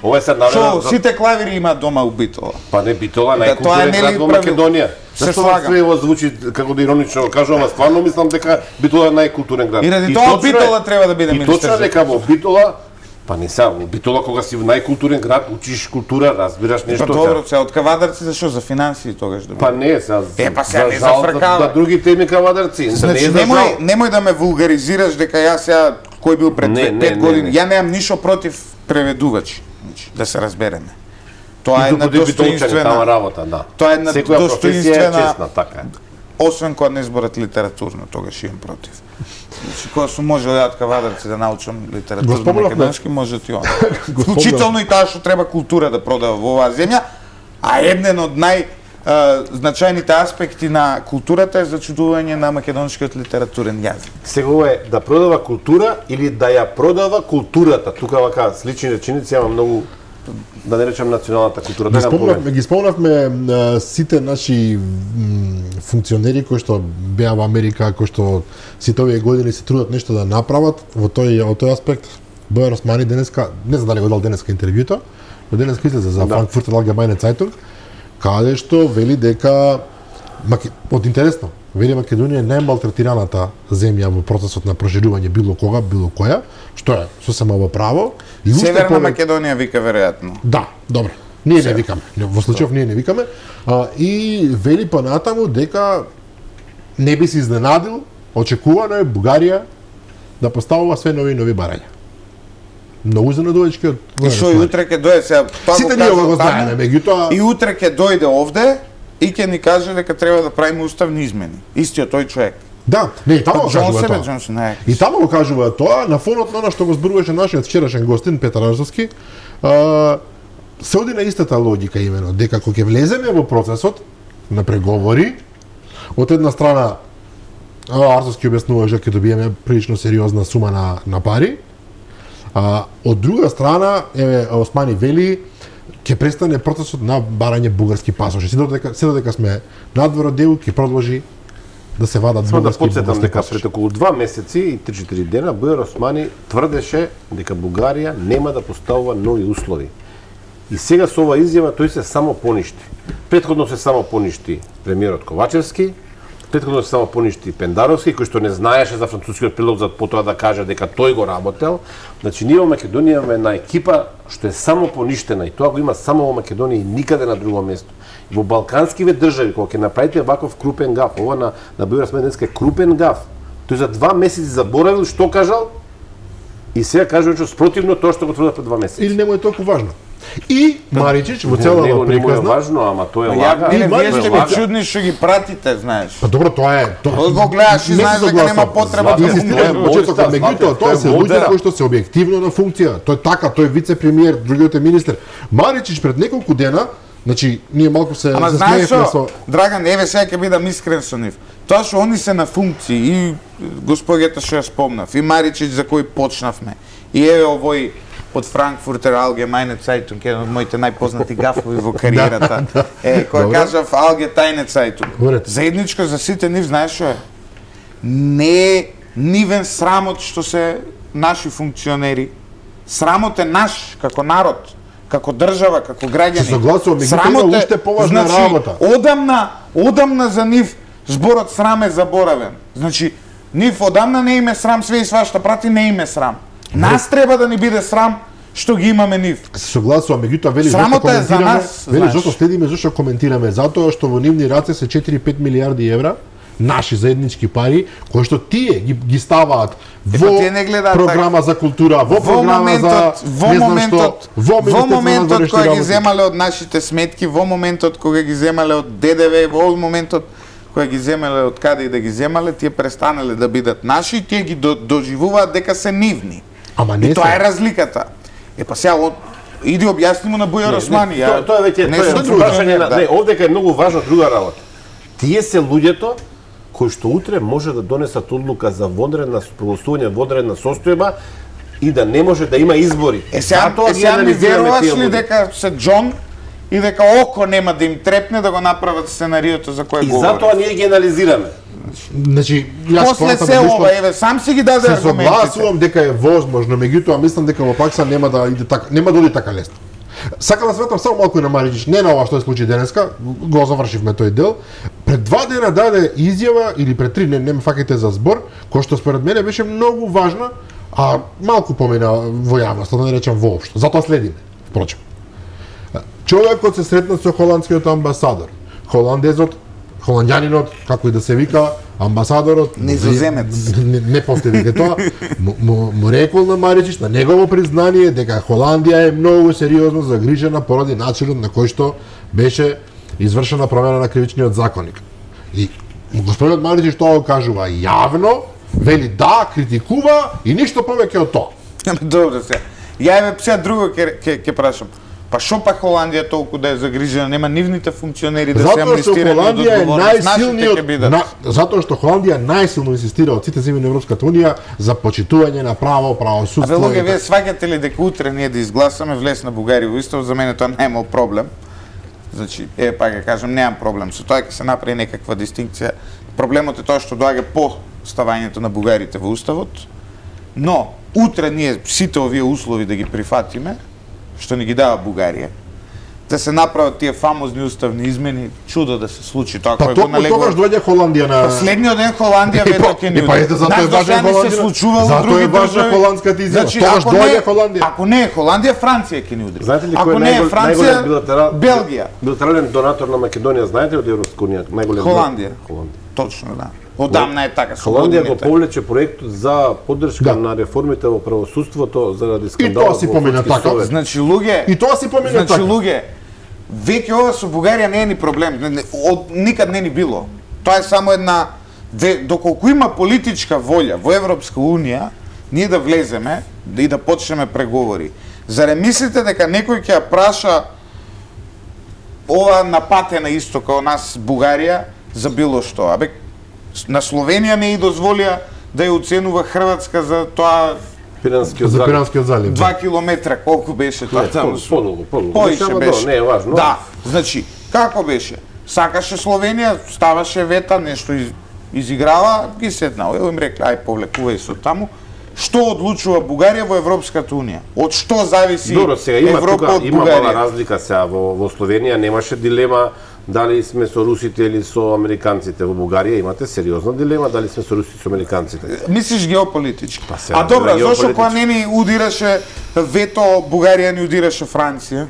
S2: што сите клавири имаат дома у Битола.
S3: Па не, Битола најкултурен град во Македонија. Зашто све звучи како да иронично кажувам, ама стварно мислам дека Битола е најкултурен град.
S2: И ради тоа Битола треба да биде министер.
S3: И точно дека во Битола, па не са, во Битола кога си во најкултурен град, учиш култура, разбираш нешто.
S2: Па добро, се од кавадарци зашо за финансии тогаш да биде?
S3: Па не, за
S2: не зафркава.
S3: За други теми кавадарци.
S2: Значи немој да ме вулгаризираш дека јас сега кој бил пред 5 години. Ја немам ништо против преведувачи, да се разбереме. Тоа е една достоинствена
S3: работа, да.
S2: Тоа е една достоинствена
S3: честна, така.
S2: Освен кога не зборат литературно, тогаш имам против. Значи, кога сум можел ја од кавадарци да научам литературно македонски, може ти он. Вклучително и таа што треба култура да продава во оваа земја, а еден од значајните аспекти на културата е зачудување на македонскиот литературен јазик.
S3: Сега е да продава култура или да ја продава културата. Тука вака слични реченици, ама многу да не речам националната култура.
S1: Ги спомнавме сите наши функционери кои што беа во Америка, кои што сите овие години се трудат нешто да направат во тој аспект. Бојан Османи денеска, не знам дали го дал денеска интервјуто, но денеска излезе за Frankfurter Allgemeine Zeitung, каде што вели дека од интересно, вели Македонија е најмалтретираната земја во процесот на проширување било кога, било која, што е сосема во право.
S2: Северна Македонија вика веројатно.
S1: Да, добро. Ние не викаме. Во случајов ние не викаме. И вели понатаму дека не би се изненадил, очекувано е Бугарија да поставува све нови барања. Многу изненадувачки од...
S2: И што и утре ќе дојде сега...
S1: Сите ние го знаеме, меѓутоа...
S2: И утре ќе дојде овде и ќе ни каже дека треба да правиме уставни измени. Истиот тој човек.
S1: Да, не, и тамо го кажува тоа.
S2: Джонсон,
S1: и тамо го кажува тоа, на фонот на она што го зборуваше нашиот вчерашен гостин Петар Арзовски, се оди на истата логика имено, дека кога ќе влеземе во процесот на преговори, од една страна Арзовски објаснуваше дека ќе добиеме прилично сериозна сума на пари, од друга страна Османи вели ќе престане процесот на барање бугарски пасоши. Се додека сме надвор од делу, ќе продолжи да се вадат
S3: Само да
S1: бугарски
S3: подсетам дека
S1: пасоши.
S3: пред околу 2 месеци и 3-4 дена Бујар Османи тврдеше дека Бугарија нема да поставува нови услови. И сега со ова изјава тој се само поништи. Претходно се само поништи премиерот Ковачевски, претходно се само поништи Пендаровски, кој што не знаеше за францускиот прилог за потоа да каже дека тој го работел. Значи ние во Македонија имаме една екипа што е само поништена и тоа го има само во Македонија и никаде на друго место. И во балканскиве држави кога ќе направите ваков крупен гаф, ова на Бујар Османи денеска е крупен гаф. Тој за 2 месеци заборавил што кажал и сега кажува што спротивно тоа што го тврдел пред 2 месеци.
S1: Или нему е толку важно. И Маричич во цела
S3: Него не му е
S1: приказна.
S3: важно, ама тоа е
S2: Ја,
S3: лага.
S2: мене,
S1: Има
S2: вие
S1: нещо
S2: сте го
S1: лага.
S2: чудни што ги пратите, знаеш.
S1: Па добро, тоа е.
S2: Од го гледаш и
S1: не се
S2: знаеш дека
S1: согласувам.
S2: нема потреба да
S1: Инсистирам
S3: му
S1: почеток,
S3: войска,
S1: меѓутоа тоа се
S3: тоа е
S1: луѓе
S3: модера.
S1: кои што се објективно на функција. Тој е така, тој е вице-премиер, другиот е министер. Маричич пред неколку дена, значи ние малку се
S2: Ама знаеш
S1: смеевме
S2: што,
S1: со
S2: Драган, еве сега ќе бидам искрен со нив. Тоа што они се на функции и господјата што ја спомнав, и Маричич за кој почнавме. И еве овој од Франкфуртер Allgemeine Zeitung, еден од моите најпознати гафови во кариерата. Кој
S1: Добро.
S2: кажав Allgemeine Zeitung.
S1: Говорете.
S2: Заедничко за сите нив, знаеш што е? Не е нивен срамот што се наши функционери. Срамот е наш, како народ, како држава, како граѓани.
S1: Се согласувам, меѓутоа
S2: Срамот
S1: има
S2: е,
S1: уште поважна работа.
S2: Одамна за нив зборот срам е заборавен. Значи, нив одамна не име срам све и свашта прати, не име срам. Нас треба да ни биде срам што ги имаме нив.
S1: се согласувам, меѓутоа вели
S2: Срамота е за нас,
S1: вели
S2: знаеш.
S1: зашто следиме, зашто коментираме, затоа што во нивни раце се 4-5 милиарди евра наши заеднички пари, кои што тие ги ставаат во
S2: тие не гледаат
S1: програма за култура, во програма за
S2: во
S1: не знам
S2: моментот,
S1: што, во
S2: во моментот
S1: външни
S2: кога ги
S1: работи.
S2: земале од нашите сметки, во моментот кога ги земале од ДДВ, во моментот кога ги земале од каде и да ги земале, тие престанале да бидат наши и тие ги доживуваат дека се нивни.
S1: Ама не
S2: И тоа
S1: се.
S2: е разликата. Па сега иди објасни му на Бујар Османи.
S3: Тоа веќе
S2: не
S3: тоа
S2: сум
S3: е
S2: друг
S3: прашање на
S2: да.
S3: не, овдека е многу важна друга работа. Тие се луѓето кои што утре може да донесат одлука за вонредна прогласување вонредна состојба и да не може да има избори.
S2: Сега ми веруваш ли дека се Џон и дека око нема да им трепне да го направат сценариото за кое
S3: И
S2: говори?
S3: затоа ние ги анализираме.
S1: Значи, јас
S2: После
S1: сметам
S2: се
S1: лично-
S2: ова, еве, сам си ги даде
S1: се
S2: аргументите.
S1: согласувам дека е возможно, меѓутоа мислам дека во пракса нема да иде така, нема да оди така лесно. Сакам да светам само малку и на Маричич, не на ова што се случи денеска, го завршивме тој дел. Пред 2 дена даде изјава или пред 3, не ме факите за збор, кој што според мене беше многу важна, а малку помина во јавност, да не речам воопшто. Затоа следиме, впрочем. Човекот се сретна со холандскиот амбасадор. Холандјанинот, како и да се вика, амбасадорот,
S2: Низоземец.
S1: не повтори тоа, му рекол на Маричич на негово признание дека Холандија е многу сериозно загрижена поради начинот на кој што беше извршена промена на кривичниот законник. И господинот Маричич тоа го кажува јавно, вели да, критикува и ништо повеќе од тоа.
S2: Добро се. Ја еве сега друго ќе прашам. Па шо па Холандија толку да е загрижена, нема нивните функционери да се
S1: Затоа што
S2: амнестираат од
S1: Холандија е
S2: одговорност, нашите ќе
S1: најсилниот,
S2: бидат.
S1: затоа што Холандија најсилно инсистира од сите земји на Европската унија за почитување на право, правосудство.
S2: Абе, луѓе,
S1: и
S2: вие
S1: така.
S2: сваќате ли дека утре ние да изгласаме влез на Бугарија во Устав, за мене тоа не е проблем. Значи, пак ќе кажам, немам проблем со тоа, ќе се направи некаква дистинкција. Проблемот е тоа што доаѓа по ставањето на бугарите во Уставот, но утре ние сите овие услови да ги прифатиме, што ни ги дава Бугарија, да се направат тие фамозни уставни измени, чудо да се случи тоа
S1: Па
S2: кој го
S1: токму тогаш доаѓа Холандија на
S2: Последниот ден Холандија вето ќе ни
S1: па ете затоа е важен
S2: се
S1: Холандија.
S2: случувало
S1: Затоа
S2: други
S1: е важна
S2: држави.
S1: холандската изјава.
S2: Значи,
S1: Тогаш
S2: ако не
S1: доаѓа
S2: е-
S1: Холандија.
S2: Ако не е Холандија, Франција ќе ни удри.
S3: Знаете ли
S2: Ако
S3: кој е
S2: не е Франција,
S3: најголем
S2: Белгија.
S3: билатерален донатор на Македонија, знаете од Европска унија, најголем
S2: Холандија.
S3: Холандија.
S2: Точно, да. Одамна е така. со
S3: Холандија го
S2: годините.
S3: повлече проектот за поддршка
S1: Да.
S3: на реформите во правосудството заради
S1: И
S3: скандалот
S1: тоа си
S3: во
S1: помина
S3: Судски
S1: така.
S3: совет.
S2: Значи, луѓе,
S1: И тоа си помине
S2: значи,
S1: така.
S2: луѓе, веќе ова со Бугарија не е ни проблем. Никад не ни било. Тоа е само една... Доколку има политичка волја во Европска Унија, ние да влеземе и да почнеме преговори. Заре мислите дека некој ќе ја праша ова напатена исто као нас Бугарија за било што? Абе, на Словенија не и дозволија да ја оценува Хрватска за тоа
S3: Пиранскиот
S1: За
S3: залив.
S1: Пиранскиот залив.
S2: 2 километра, колку беше тоа
S3: Не,
S2: таму?
S3: подолго.
S2: Поише
S3: Ама
S2: беше.
S3: не е важно.
S2: Да, значи, како беше? Сакаше Словенија, ставаше вета, нешто изиграва, ги седнал, им рекла, ај повлекувај со таму. Што одлучува Бугарија во Европската Унија? Од што зависи Европа од Бугарија?
S3: Има мала разлика сега во Словенија, немаше дилема дали сме со русите или со американците. Во Бугарија имате сериозна дилема дали сме со русите или со американците.
S2: Мислиш геополитички? А добра, зошто кога не ни удираше вето, Бугарија ни удираше Франција?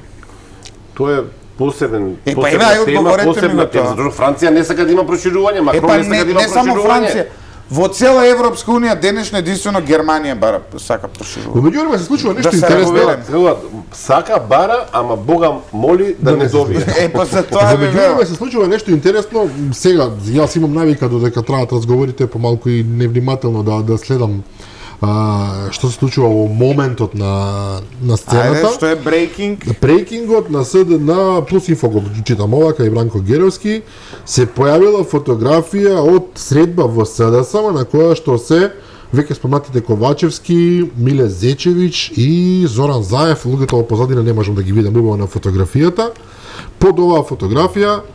S3: Тоа е посебна
S2: тема,
S3: затоа Франција не сака да има проширување, Макрон не сака да има проширување.
S2: Не само Франција, во цела Европска Унија денешно единствено Германија бара сака проширување.
S1: Во меѓувреме се случува нешто интересно.
S3: Сака бара, ама Бога моли да не добие.
S2: Па за тоа
S1: во меѓувреме се случува нешто интересно. Сега јас имам навика додека траат разговорите помалку и невнимателно да следам што се случува во моментот на сцената.
S2: Ајде, што е брейкинг?
S1: Брейкингот на СДН плюс инфо го читам овака и Бранко Геровски, се појавила фотографија од средба во СДСМ на која што се веќе спомнатите Ковачевски, Миле Зечевич и Зоран Заев, луѓето во позадина не можам да ги видам убаво на фотографијата. Под оваа фотографија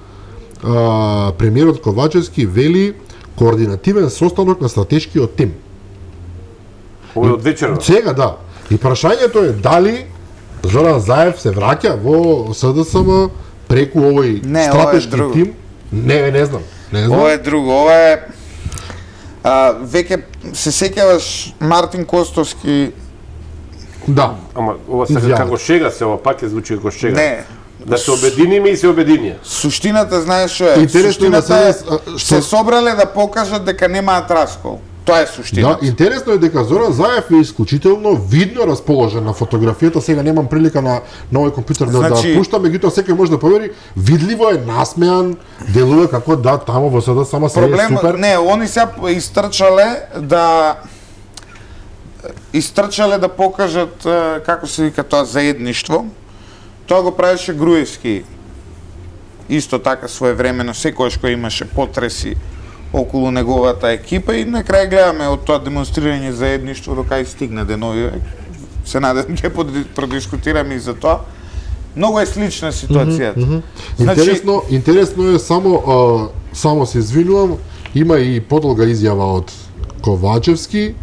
S1: премиерот Ковачевски вели координативен состанок на стратешкиот тим.
S3: Овој од вечерот.
S1: Сега да. И прашањето е дали Зоран Заев се враќа во СДСМ преку овој стратешки тим? Не знам.
S2: Ова е друго. Ова е веќе се сеќаваш Мартин Костовски.
S1: Да.
S3: Ама ова сега како шега се, ова пак е звучи како шега.
S2: Не.
S3: Да се обединиме и се обединија.
S2: Суштината знаеш што е? Суштината е се собрале да покажат дека немаат раскол. Тоа е суштината.
S1: Да, интересно е дека Зоран Заев е исклучително видно расположен на фотографијата. Сега немам прилика на овој компјутер да пуштам, меѓутоа секој може да повери, видливо е насмеан, делува како да таму во СДС само се е супер.
S2: Не, они се истрчале да покажат како се вика тоа заедништво. Тоа го правеше Груевски. Исто така своевремено, секогаш кога имаше потреси околу неговата екипа и на крај гледаме од тоа демонстрирање заедништво до кај стигна денови. Се надевам ќе продискутираме и за тоа. Многу е слична ситуацијата.
S1: Интересно е само се извинувам, има и подолга изјава од Ковачевски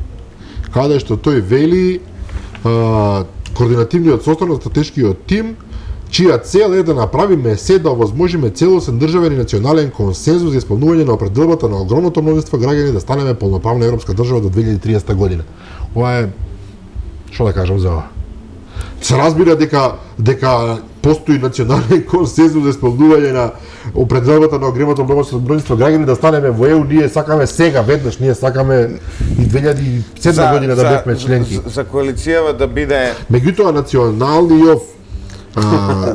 S1: каде што тој вели координативниот состанок на стратешкиот тим чија цел е да направиме се да овозможиме целосен државен и национален консензус за исполнување на определбата на огромното множество граѓани да станеме полноправна европска држава до 2030 година. Ова е, што да кажам за ова? Се разбира дека постои национален консензус за исполнување на определбата на огромното множество граѓани да станеме во ЕУ, ние сакаме сега веднаш, ние сакаме и 2007 година да бевме членки.
S2: За коалицијава да биде
S1: меѓутоа националниот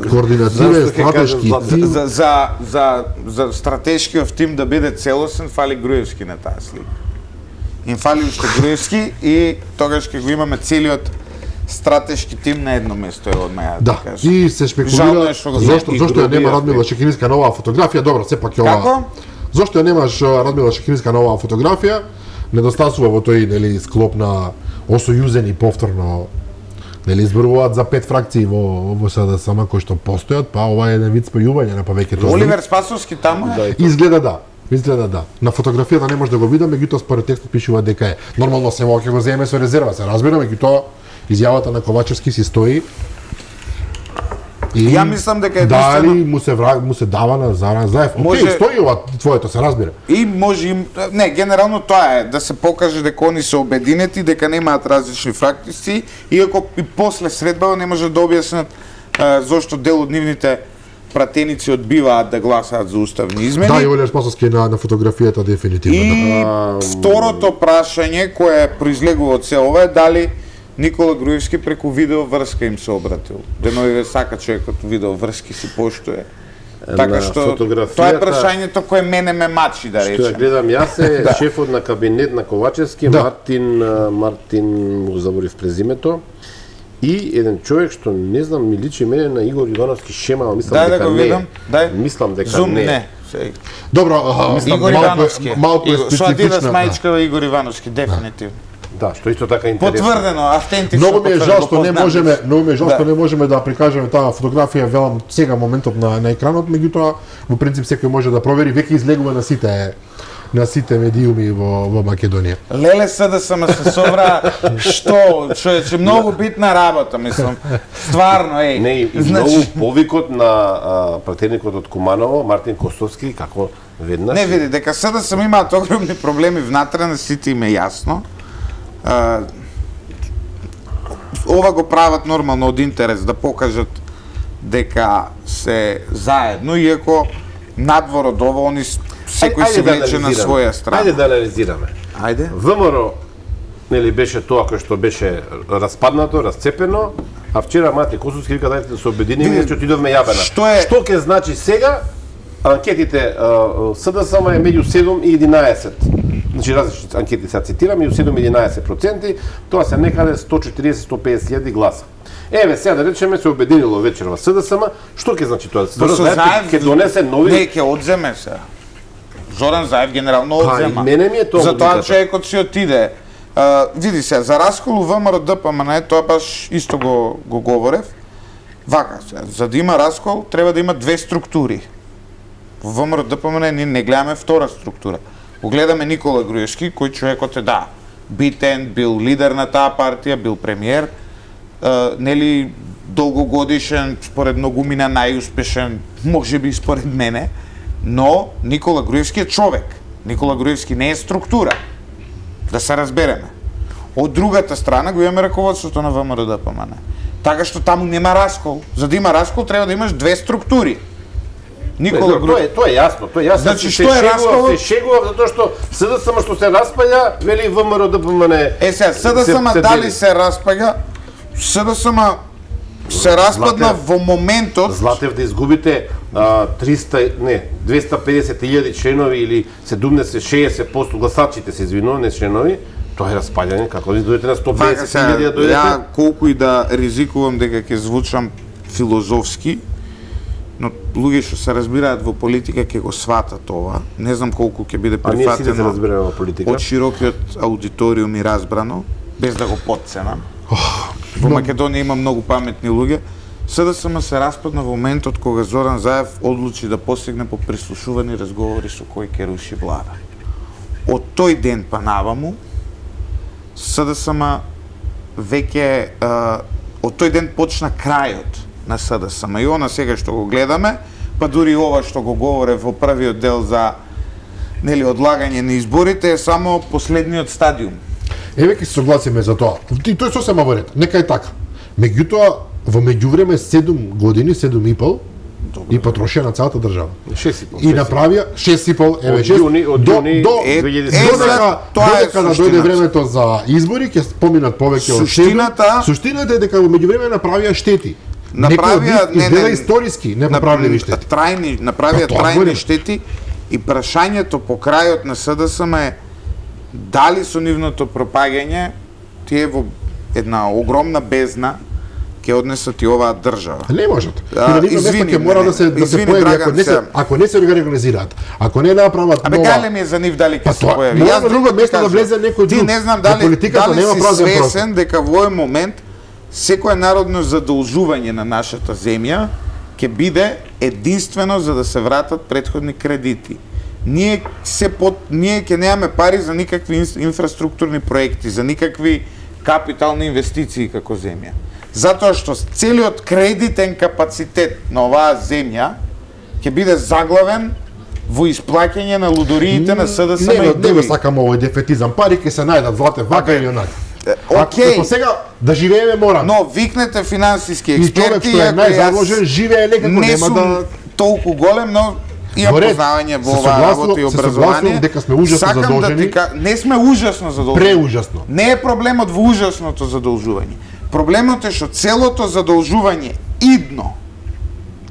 S1: координативен стратешки тим
S2: за стратешкиот тим да биде целосен, фали Груевски на таа слика. Им фали уште Груевски и тогаш ќе го имаме целиот стратешки тим на едно место е од маја.
S1: Да, и се спекулира зошто ја нема Радмила Шекеринска на оваа фотографија. Добро, сепак е ова.
S2: Како?
S1: Зошто ја немаш Радмила Шекеринска на оваа фотографија? Недостасува во тој склоп на осојузени повторно изборуваат за 5 фракции во СДСМ кои што постојат, па ова е еден вид спојување на повеќето.
S2: Оливер Спасовски таму е?
S1: Изгледа да. На фотографијата не може да го видам, меѓутоа според текстот пишува дека е. Нормално се ќе го земе со резерва, се разбира, меѓутоа изјавата на Ковачевски си стои.
S2: И ја мислам дека
S1: дали му се дава на Зоран Заев. Океј, стои ова твоето, се разбира.
S2: И може не, генерално тоа е да се покаже дека они се обединети, дека немаат различни фракции, иако и после средбава не може да објаснат зошто дел од нивните пратеници одбиваат да гласаат за уставни измени.
S1: Да, и Оливер Спасовски на фотографијата дефинитивно.
S2: И второто прашање кое произлегува од се ова е дали Никола Груевски преку видео врска им се обратил. Деновиве сака човекот видео врски си поштуе. Така што тоа е прашањето кое мене ме мачи, да речем.
S3: Што ја гледам јас е шефот на кабинет на Ковачевски, Мартин му заборив презимето. И еден човек што не знам ми личи мене на Игор Ивановски шема, мислам дека не. Мислам дека не.
S1: Добро,
S2: Игор Ивановски.
S1: Малку е специфична.
S2: Со Адидас мајчкава Игор Ивановски, дефинитивно.
S3: Да, што исто така интересно.
S2: Потврдено, автентично.
S1: Многу ми е жал што не можеме да прикажеме таа фотографија, велам сега моментот на екранот, меѓутоа во принцип секој може да провери, веќе излегува на сите на сите медиуми во Македонија.
S2: Леле СДСМ се собра, што, човече, многу битна работа, мислам. Стварно, еј.
S3: Не, и многу повикот на пратеникот од Куманово, Мартин Костовски, како веднаш.
S2: Не, види, дека СДСМ имаат огромни проблеми внатре, на сите им е јасно. Ова го прават нормално од интерес, да покажат дека се заедно, иако надвор од ова, они секој се влече на своја страна.
S3: Ајде да анализираме.
S2: Ајде.
S3: ВМРО, нели, беше тоа кој што беше распаднато, расцепено, а вчера Мартин Костовски вика дајте да се обединиме, че отидовме јабена. Што ќе значи сега? Анкетите СДСМ е меѓу 7 и 11. Значи различни анкети сега цитирам, меѓу 7 и 11%, тоа се некаде 140-150 гласа. Еве сега да речеме се обединило вечерва СДСМ, што ќе значи тоа? Ќе донесе нови...
S2: Не, ќе одземе се. Зоран Заев генерално одзема.
S3: Мене ми е тоа.
S2: Затоа човекот си отиде. Види се, за раскол ВМРО ДПМН, тоа баш исто го говорев. Вака, за да има раскол, треба да има две структури. Во ВМРО ДПМН ние не гледаме втора структура. Го гледаме Никола Груевски, кој човекот е, да, битен, бил лидер на таа партија, бил премиер, нели, долгогодишен, според многумина најуспешен, можеби според мене, но Никола Груевски е човек. Никола Груевски не е структура. Да се разбереме. Од другата страна го имаме раководството на ВМРО ДПМН. Така што таму нема раскол. За да има раскол треба да имаш две структури.
S3: Никола Груевски. Тоа е јасно, тоа е јасно.
S2: Значи што е раскол?
S3: Се шегува затоа што СДСМ што се распаѓа, вели ВМРО ДПМН.
S2: Сега СДСМ дали се распаѓа? СДСМ се распадна во моментот.
S3: Златев да изгубите 250.000 членови или 70-60% гласачите се извинувам, не членови, тоа е распаѓање, како ви дојдете на 150.000 да дојдете?
S2: Ја колку и да ризикувам дека ќе звучам филозофски, но луѓе што се разбираат во политика ќе го сватат ова. Не знам колку ќе биде прифатено од широкиот аудиториум и разбрано, без да го потценам. Во Македонија има многу паметни луѓе. СДСМ се распадна во моментот кога Зоран Заев одлучи да посегне по прислушувани разговори со кој ќе руши влада. Од тој ден па наваму, СДСМ веќе од тој ден почна крајот на СДСМ. И она сега што го гледаме, па дури ова што го говоре во првиот дел за нели одлагање на изборите е само последниот стадиум.
S1: Еве ќе се согласиме за тоа. И тоа е сосема во ред. Нека е така. Меѓутоа, во меѓувреме 7 години, 7,5, и потрошија на целата држава.
S3: 6,5.
S1: И направија 6,5, еве 6.
S3: Од јуни 2010.
S1: Додека да дојде времето за избори, ќе поминат повеќе од 7. Суштината е дека во меѓувреме направија штети.
S2: Направија
S1: не историски неправливи штети.
S2: Направија трајни штети и прашањето по крајот на СДСМ е дали со нивното пропагање тие во една огромна бездна ќе однесат и оваа држава.
S1: Не можат. И на нивно место ќе мора да се појави, ако не се организираат, ако не направат нова...
S2: Гале ми е за нив дали ќе се појави.
S1: Јас на друго место да влезе некој друг.
S2: Ти не знам дали си свесен дека во овој момент секое народно задолжување на нашата земја ќе биде единствено за да се вратат претходни кредити. Ние ќе немаме пари за никакви инфраструктурни проекти, за никакви капитални инвестиции како земја. Затоа што целиот кредитен капацитет на оваа земја ќе биде заглавен во исплаќање на лудориите на СДСМ и други.
S1: Не сакам овој дефетизам. Пари ќе се најдат, Злате, вака или онака.
S2: Океј.
S1: Сега да живееме мора.
S2: Но викнете финансиски експерти,
S1: и човек што е најзаложен живее некако, нема да
S2: толку голем, но имам познавање во оваа работа и образование.
S1: Дека сме ужасно задолжени.
S2: Не сме ужасно задолжени.
S1: Преужасно.
S2: Не е проблемот во ужасното задолжување. Проблемот е што целото задолжување идно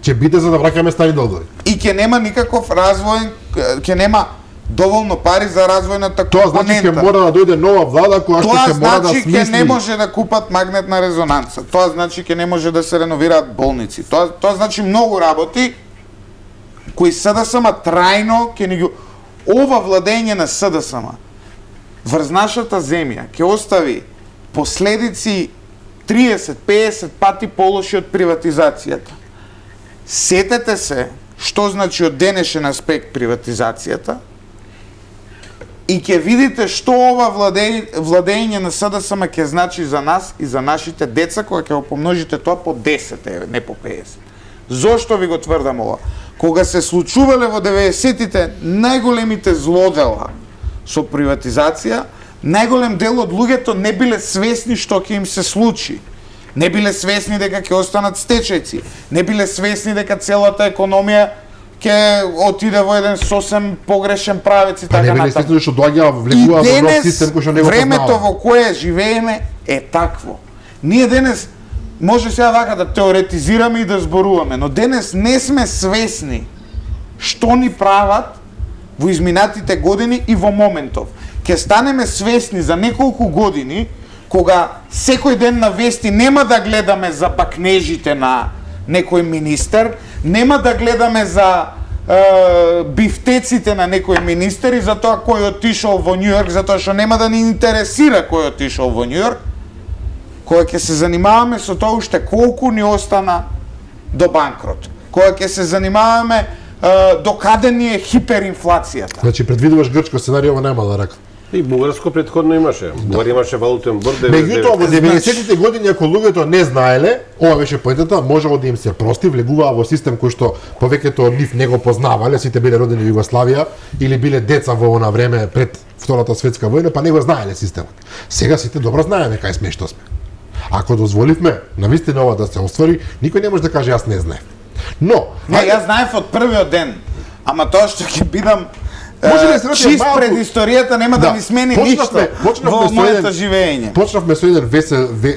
S1: ќе биде за да враќаме стари долгови.
S2: И ќе нема никаков развој, ќе нема доволно пари за развојната компонента.
S1: Тоа значи ќе мора да дојде нова влада која што ќе мора да смисли.
S2: Тоа значи ќе не може да купат магнетна резонанца. Тоа значи ќе не може да се реновираат болници. Тоа значи многу работи кои СДСМ трајно ќе ни ги... Ова владење на СДСМ врз нашата земја ќе остави последици 30-50 пати полоши од приватизацијата. Сетете се што значи од денешен аспект приватизацијата И ќе видите што ова владење на СДСМ ќе значи за нас и за нашите деца кога ќе го помножите тоа по 10, не по 50. Зошто ви го тврдам ова? Кога се случувале во 90-тите најголемите злодела со приватизација, најголем дел од луѓето не биле свесни што ќе им се случи. Не биле свесни дека ќе останат стечајци. Не биле свесни дека целата економија ќе отиде во еден сосем погрешен правец и така натаму.
S1: Не биле свесни што доаѓа влегува во нов систем кој што не го познава.
S2: Времето во кое живееме е такво. Ние денес може сега вака да теоретизираме и да зборуваме, но денес не сме свесни што ни прават во изминатите години и во моментов. Ќе станеме свесни за неколку години, кога секој ден на вести нема да гледаме за бакнежите на некој министер, нема да гледаме за бифтеците на некој министер и за тоа кој отишол во Њујорк, затоа што нема да ни интересира кој отишол во Њујорк, кога ќе се занимаваме со тоа уште колку ни остана до банкрот, кога ќе се занимаваме до каде ни е хиперинфлацијата.
S1: Значи предвидуваш грчко сценарио, ова нема да рака.
S3: И бугарско претходно имаше. Бугарија имаше валутен борд.
S1: Меѓутоа во 90-тите години ако луѓето не знаеле, ова беше поентата, можело да им се прости, влегуваа во систем кој што повеќето од нив не го познавале, сите биле родени во Југославија или биле деца во она време пред Втората светска војна, па не го знаеле системот. Сега сите добро знаеме кај сме и што сме. Ако дозволивме навистина ова да се оствари, никој не може да каже јас не знаев. Но,
S2: не, јас знаев од првиот ден, ама тоа што ќе бидам чист пред историјата нема да ми смени ништо во моето живење.
S1: Почнавме со еден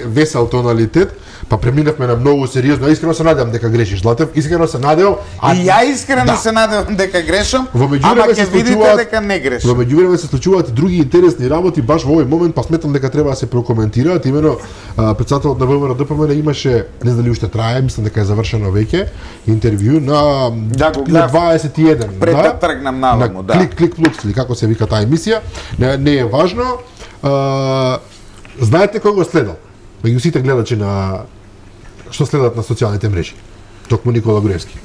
S1: весел тоналитет, па преминавме на многу сериозно. Искрено се надевам дека грешиш, Златев. Искрено се надевам.
S2: И ја искрено се надевам дека грешам, ама ќе видите дека не грешам.
S1: Во меѓувреме се случуваат и други интересни работи баш во овој момент, па сметам дека треба да се прокоментираат. Имено претседателот на ВМРО ДПМН имаше, не знам дали уште трае, мислам дека е завршено веќе, интервју на 21.
S2: Пред да тргнам наваму, да.
S1: Клик плюс или како се вика таа емисија, не е важно. Знаете кој го следал? Меѓу сите гледачи на што следат на социјалните мрежи. Токму Никола Груевски.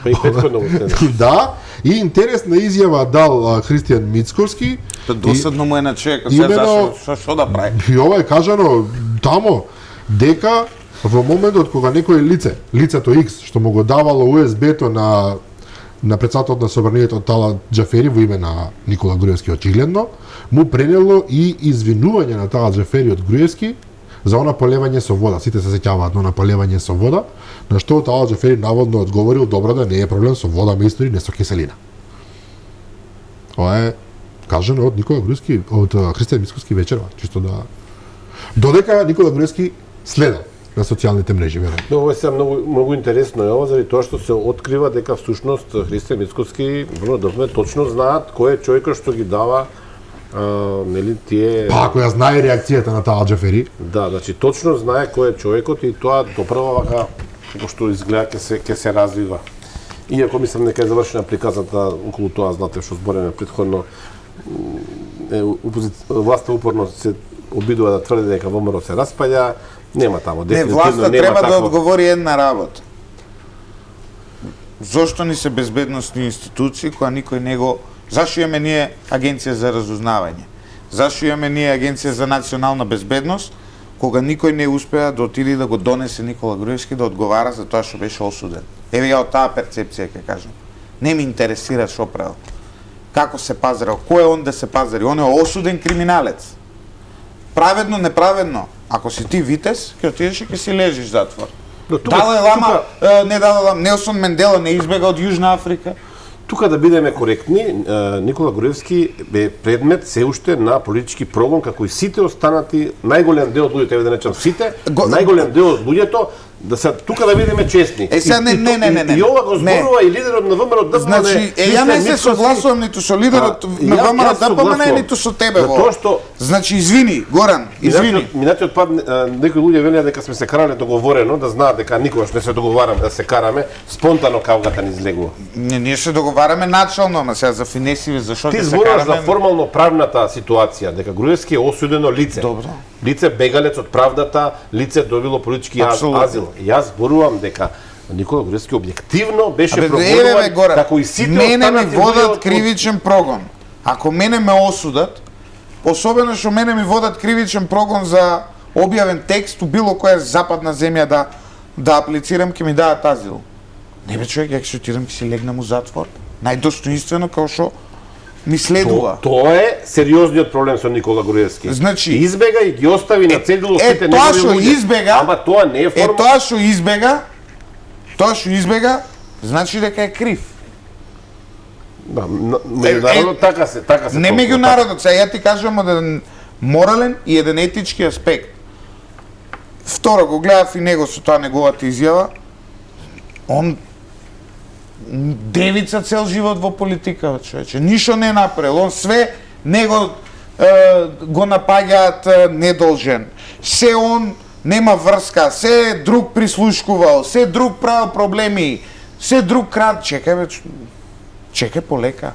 S3: Па и претходно го следат.
S1: Да, и интересна изјава дал Христијан Мицковски.
S2: Досадно му е на човекот, сега што да прави?
S1: И ова е кажано тамо дека во моментот кога некој лицето X што му го давало USB-то на претседателот на собранието Талат Џафери во име на Никола Груевски очигледно, му пренело и извинување на Талат Џафери од Груевски за она полевање со вода. Сите се сеќаваат на она полевање со вода, на што Талат Џафери наводно одговорил добро да не е проблем со вода, мистери, не со киселина. Ова е кажано од Никола Груевски, од Христијан Мицковски вечерва, чисто да додека Никола Груевски следал на социјалните мрежи, веројатно.
S3: Но ова е многу интересно е ова заради тоа што се открива дека всушност Христијан Мицковски точно знаат кој е човекот што ги дава нели тие.
S1: Па ако ја знае реакцијата на Талат Џафери.
S3: Да, значи точно знае кој е човекот и тоа доправа вака како што изгледа ќе се развива. Иако мислам дека е завршена приказната околу тоа, знаете што збореме претходно, власта упорно се обидува да тврди дека ВМРО се распаѓа. Нема тамо, дефинитивно нема тако.
S2: Не, власта треба да одговори една работа. Зошто ни се безбедносни институции која никој не го... Зашто имаме ние Агенција за разузнавање? Зашто имаме ние Агенција за национална безбедност, кога никој не успеа да отиде да го донесе Никола Груевски да одговара за тоа што беше осуден? Еве ја од таа перцепција ќе кажам. Не ми интересира што правил. Како се пазарил? Кој е он да се пазари? Он е осуден криминалец. Праведно, неправедно. Ако си ти витез, ќе отидеш и ќе си лежиш затвор. Далај Лама, не Далај Лама, Нелсон Мендела не избега од Јужна Африка.
S3: Тука да бидеме коректни, Никола Груевски бе предмет се уште на политички прогон, како и сите останати, најголем дел од луѓето, еве да речам сите, најголем дел од луѓето, да се тука да бидеме честни.
S2: Сега не.
S3: И ова го зборува и лидерот на ВМРО ДПМН.
S2: Значи, ја не се согласувам ниту со лидерот на ВМРО ДПМН, ниту со тебе во.
S3: Тоа што
S2: значи извини, Горан, извини.
S3: Минатиот пат некои луѓе велеа дека сме се карале договорено, да знаат дека никогаш не се договараме да се караме, спонтано кавгата ни излегува.
S2: Ние се договараме начално, ама сега за финесиве зашто
S3: ќе се караме. Ти зборуваш за формално правната ситуација, дека Груевски е осудено лице.
S2: Добро.
S3: Лице бегалец од правдата, лице добило политички азил. Јас зборувам дека Никола Груевски објективно беше прогонуван како и сите останати.
S2: Мене ми водат кривичен прогон. Ако мене ме осудат, особено што мене ми водат кривичен прогон за објавен текст у било која западна земја да аплицирам, ќе ми дадат азил. Не бе човек, ја ќе отидам, ќе си легнам у затвор. Најдостоинствено као што ми следува.
S3: Тоа е сериозниот проблем со Никола Груевски.
S2: Значи,
S3: избега и ги остави на цедило сите
S2: тоа што избега,
S3: ама тоа не е форма.
S2: тоа што избега, значи дека е крив.
S3: Да, меѓународот така се
S2: не меѓународот, сега ја ти кажувам еден морален и еден етички аспект. Второ, го гледав и него со таа неговата изјава. Он девица цел живот во политика, човече. Ништо не направил. Он све него го напаѓаат недолжен. Се он нема врска, се друг прислушкувал, се друг правил проблеми, се друг крад. Чекај полека.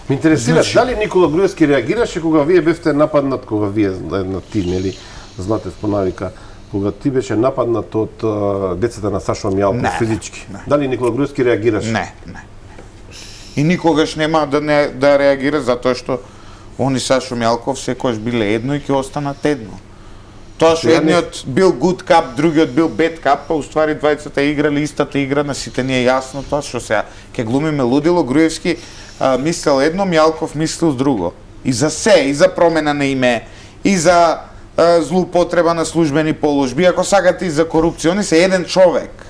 S3: Ме интересира, дали Никола Груевски реагираше кога вие бевте нападнат, кога вие на ти, нели, Златев по навика, кога ти беше нападнат од децата на Сашо Мјалков физички? Дали Никола Груевски реагираше?
S2: Не. И никогаш нема да реагира, затоа што они Сашо Мјалков секогаш биле едно и ќе останат едно. Тоа што едниот бил good cup, другиот бил bad cup, па уствари двајцата играли истата игра, на сите ни е јасно тоа што сега ќе глумиме лудило. Груевски мислел едно, Мјалков мислил друго. И за се, и за промена на име, и за злоупотреба на службени положби, ако сакате и за корупција, они се еден човек.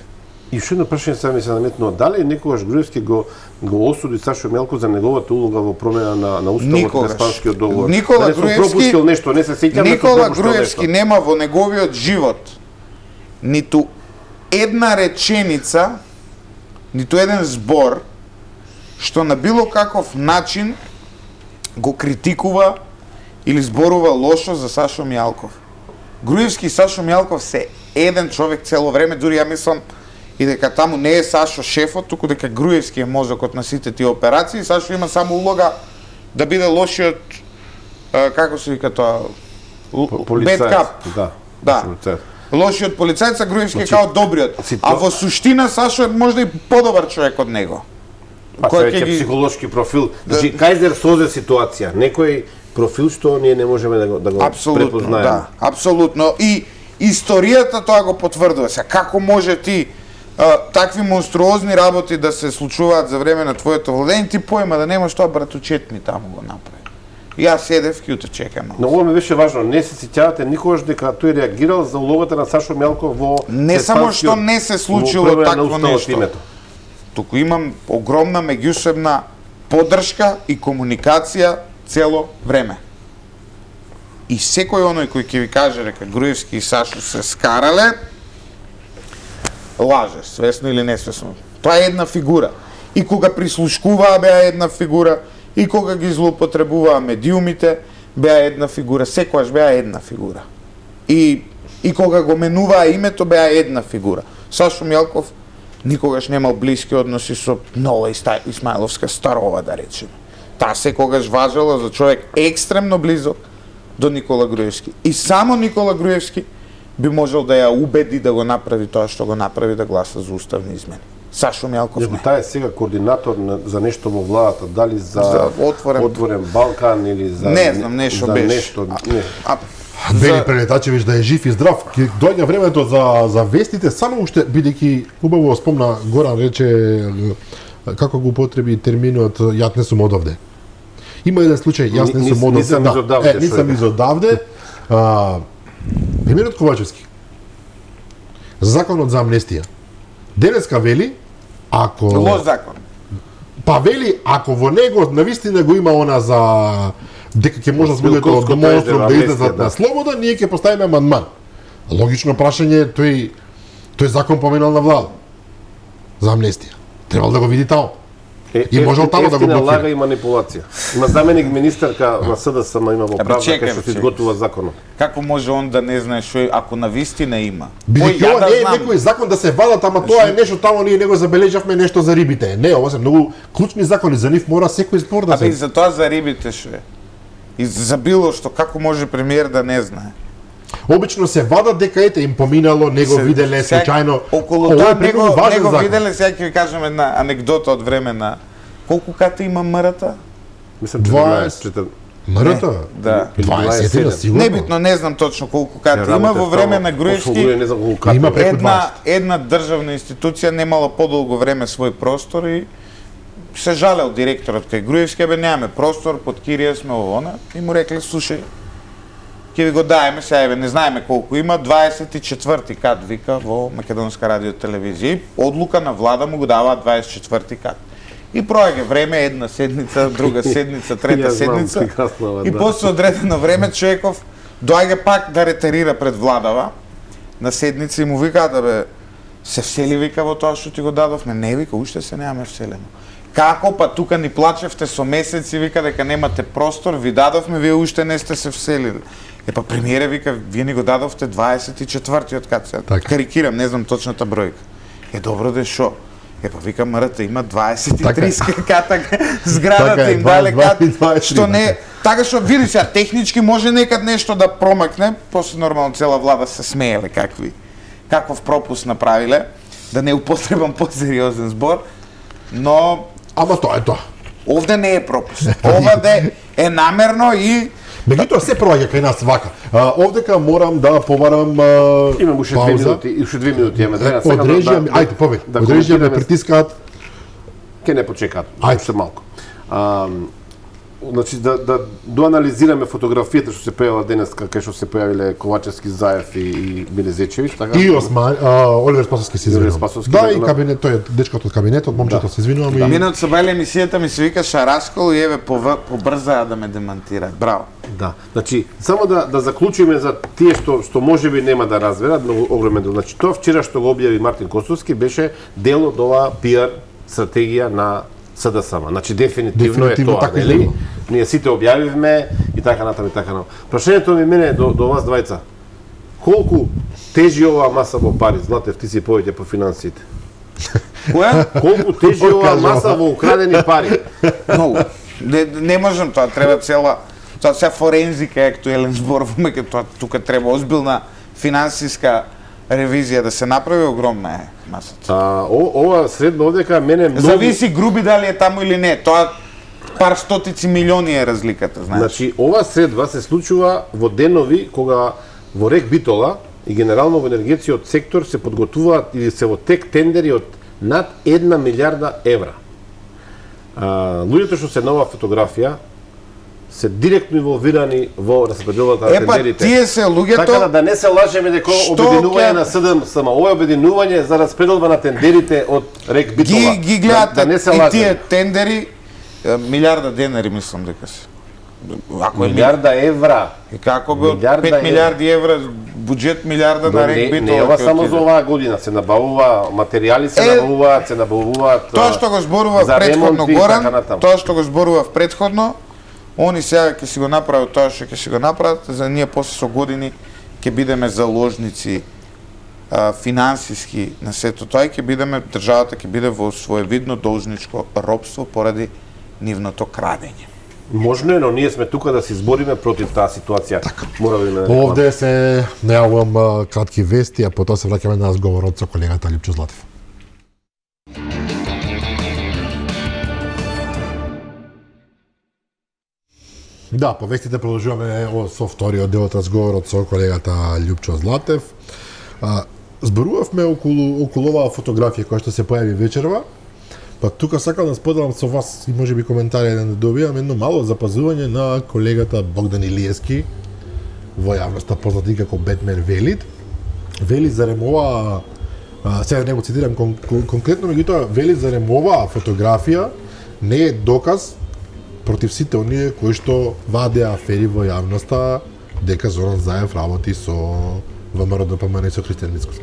S3: И уште едно прашање сега ми се наметнува, дали некогаш Груевски го осуди Сашо Мјалков за неговата улога во промена на уставот на Испанскиот договор?
S2: Никола Груевски
S3: нешто, не се сеќам.
S2: Никола Груевски нема во неговиот живот ниту една реченица, ниту еден збор што на било каков начин го критикува или зборува лошо за Сашо Мјалков. Груевски и Сашо Мјалков се еден човек цело време, дури ја мислам и дека таму не е Сашо шефот, туку дека Груевски е мозокот на сите тие операции. Сашо има само улога да биде лошиот, како се вика тоа, bad cup. Да. Лошиот полицајец, а Груевски е као добриот. А во суштина Сашо е можда и подобар човек од него.
S3: Па се веќе психолошки профил. Значи, Кајзер созе ситуација. Некој профил што ние не можеме да го препознаеме.
S2: Да, апсолутно. И историјата тоа го потврдува. Сега, како може ти такви монструозни работи да се случуваат за време на твоето владење, ти појма да немаш тоа братучет ми таму го направи. Јас седев ќе те чекам.
S3: Но ова ми беше важно, не се сеќавате никогаш дека тој реагирал за улогата на Сашо Мјалков во
S2: не само што не се случило такво нешто. Туку имам огромна меѓусебна поддршка и комуникација цело време. И секој оној кој ќе ви каже дека Груевски и Сашо се скарале, лаже, свесно или несвесно. Тоа е една фигура. И кога прислушкуваа беа една фигура, и кога ги злоупотребуваа медиумите, беа една фигура, секојаш беа една фигура. И кога го менуваа името, беа една фигура. Сашо Мјалков никогаш немал блиски односи со Нова Исмаиловска Старова, да речеме. Таа секогаш важела за човек екстремно близок до Никола Груевски. И само Никола Груевски би можел да ја убеди да го направи тоа што го направи, да гласа за уставни измени. Сашо Мјалков не.
S3: Таа е сега координатор за нешто во владата, дали за отворен Балкан или за
S2: не знам, нешто беше.
S1: Бели Прелетачевич да е жив и здрав. Ќе доаѓа времето за вестите, само уште бидејќи убаво спомна Горан рече како го употреби терминот јас не сум одовде. Има еден случај, јас не сум одовде. Нисам изодавде. Премиерот Ковачевски. Законот за амнестија. Денеска вели, ако
S2: лош закон.
S1: Па вели, ако во него навистина го има она за дека ќе може луѓето од домоустров да излезат на слобода, ние ќе поставиме амандман. Логично прашање, тој закон поменал на влада за амнестија. Требал да го види таму. И можел таму да го блокира.
S3: Лага и манипулација. Има заменик министерка на СДСМ има во правда кај што се изготвува законот.
S2: Како може он да не знае што ако навистина има?
S1: Бидејќи ова не е некој закон да се вадат, ама тоа е нешто таму ние него забележавме нешто за рибите. Не, ова се многу клучни закони, за нив мора секој збор да се.
S2: И за тоа за рибите што е. И за било што, како може премиер да не знае?
S1: Обично се вадат дека ете им поминало, него виделе случајно.
S2: Околу тоа него виделе, сега ќе ви кажам една анегдота од време на колку ката има МРТ?
S3: Мислам
S1: 20. Мрата?
S2: Да.
S1: 20 сигурно.
S2: Небитно, не знам точно колку карти има. Во време на Груевски
S1: има преку 20.
S2: една државна институција немала подолго време свој простор и се жалел директорот кај Груевски, бе немаме простор, под кирија сме овона, и му рекле, слушај, ќе ви го даеме, сега не знаеме колку има, 24-ти кат вика во Македонска радио телевизија. И одлука на влада му го дава 24-ти кат. И проаѓа време, една седница, друга седница, трета седница. И после одредено време човеков доаѓа пак да ретерира пред владава на седница и му вика да бе се всели вика во тоа што ти го дадовме. Не вика, уште се немаме вселено. Како па тука ни плачевте со месеци, вика дека немате простор, ви дадовме, вие уште не сте се вселили. Па премиере вика, вие ни го дадовте 24-тиот кат. Карикирам, не знам точната бројка. Добро де шо? Па вика мрата има 23 ката зградата им дале кат, што не, така што види сега технички може некад нешто да промакне, после нормално цела влада се смееле каков пропуск направиле, да не употребам посериозен збор, но
S1: ама тоа е тоа.
S2: Овде не е пропуск. Овде е намерно и
S1: меѓутоа се проаѓа кај нас вака. Овдека морам да побарам
S3: имам уште 2 минути, и уште 2 минути имаме време.
S1: Ајде, повеќе. Одрежија ме притискаат.
S3: Ке не почекаат, уште малку. Значи да доанализираме фотографијата што се појавила денес, кај што се појавиле Ковачевски, Заев и Билезечевиќ, така?
S1: И Осман, Оливер Спасовски се извинувам. Да, и кабинет, тој е дечкото од кабинетот, момчето се извинувам и
S2: минат се бајле емисијата ми се вика Шараскол и еве побрзаа да ме демантираат. Браво.
S3: Да. Значи, само да заклучиме за тие што можеби нема да разберат, многу огромен дел. Значи, тоа вчера што го објави Мартин Костовски беше дел од оваа пиар стратегија на СДСМ. Значи дефинитивно е тоа,
S1: така
S3: нели? Ние сите објавивме и така натаму и така натаму. Прашањето ми мене до вас двајца. Колку тежи оваа маса во пари? Златев, ти си повеќе по финансиите.
S2: Која?
S3: Колку тежи оваа маса во украдени пари?
S2: Многу. Не можам тоа, треба цела тоа се форензика е актуелен зборуваме, тоа тука треба озбилна финансиска ревизија да се направи, огромна е масата.
S3: Ова средба овдека мене многу
S2: зависи груби дали е таму или не. Тоа пар стотици милиони е разликата, знаеш.
S3: Значи, ова средба се случува во денови кога во Рек Битола и генерално во енергетскиот сектор се подготвуваат или се во тек тендери од над 1 милиарда евра. Луѓето што се на оваа фотографија се директно инволвирани во распределата на тендерите.
S2: Тие се луѓето.
S3: Така да не се лажеме дека обединување на СДСМ, ова е обединување за распределба на тендерите од Рек Битола.
S2: Ги гледате и тие тендери милиарда денари мислам дека се.
S3: Ако милиарда евра.
S2: И како бе 5 милиарди евра буџет милиарда на Рек Битола.
S3: Не ова само за оваа година, се набавува материјали, се набавуваат.
S2: Тоа што го зборува претходно Горан, тоа што го зборува претходно, они сега ќе си го направат тоа што ќе си го направат, за ние после со години ќе бидеме заложници финансиски на сето тоа и ќе бидеме, државата ќе биде во своевидно должничко робство поради нивното крадење.
S3: Можно е, но ние сме тука да се избориме против таа ситуација.
S1: Така. Овде се најавувам кратки вести, а потоа се враќаме на разговорот со колегата Љупчо Златев. Да, по вестите продолжуваме со вториот дел од разговорот со колегата Љупчо Златев. Зборувавме околу оваа фотографија која што се појави вечерва. Па тука сакам да споделам со вас и можеби коментари да добијам едно мало запазување на колегата Богдан Илиевски во јавноста познат и како Бетмен Велит. Вели зарем ова, сега не го цитирам конкретно, меѓутоа вели зарем оваа фотографија не е доказ против сите оние кои што вадеа афери во јавноста дека Зоран Заев работи со ВМРО ДПМН и со Христијан Мицкоски.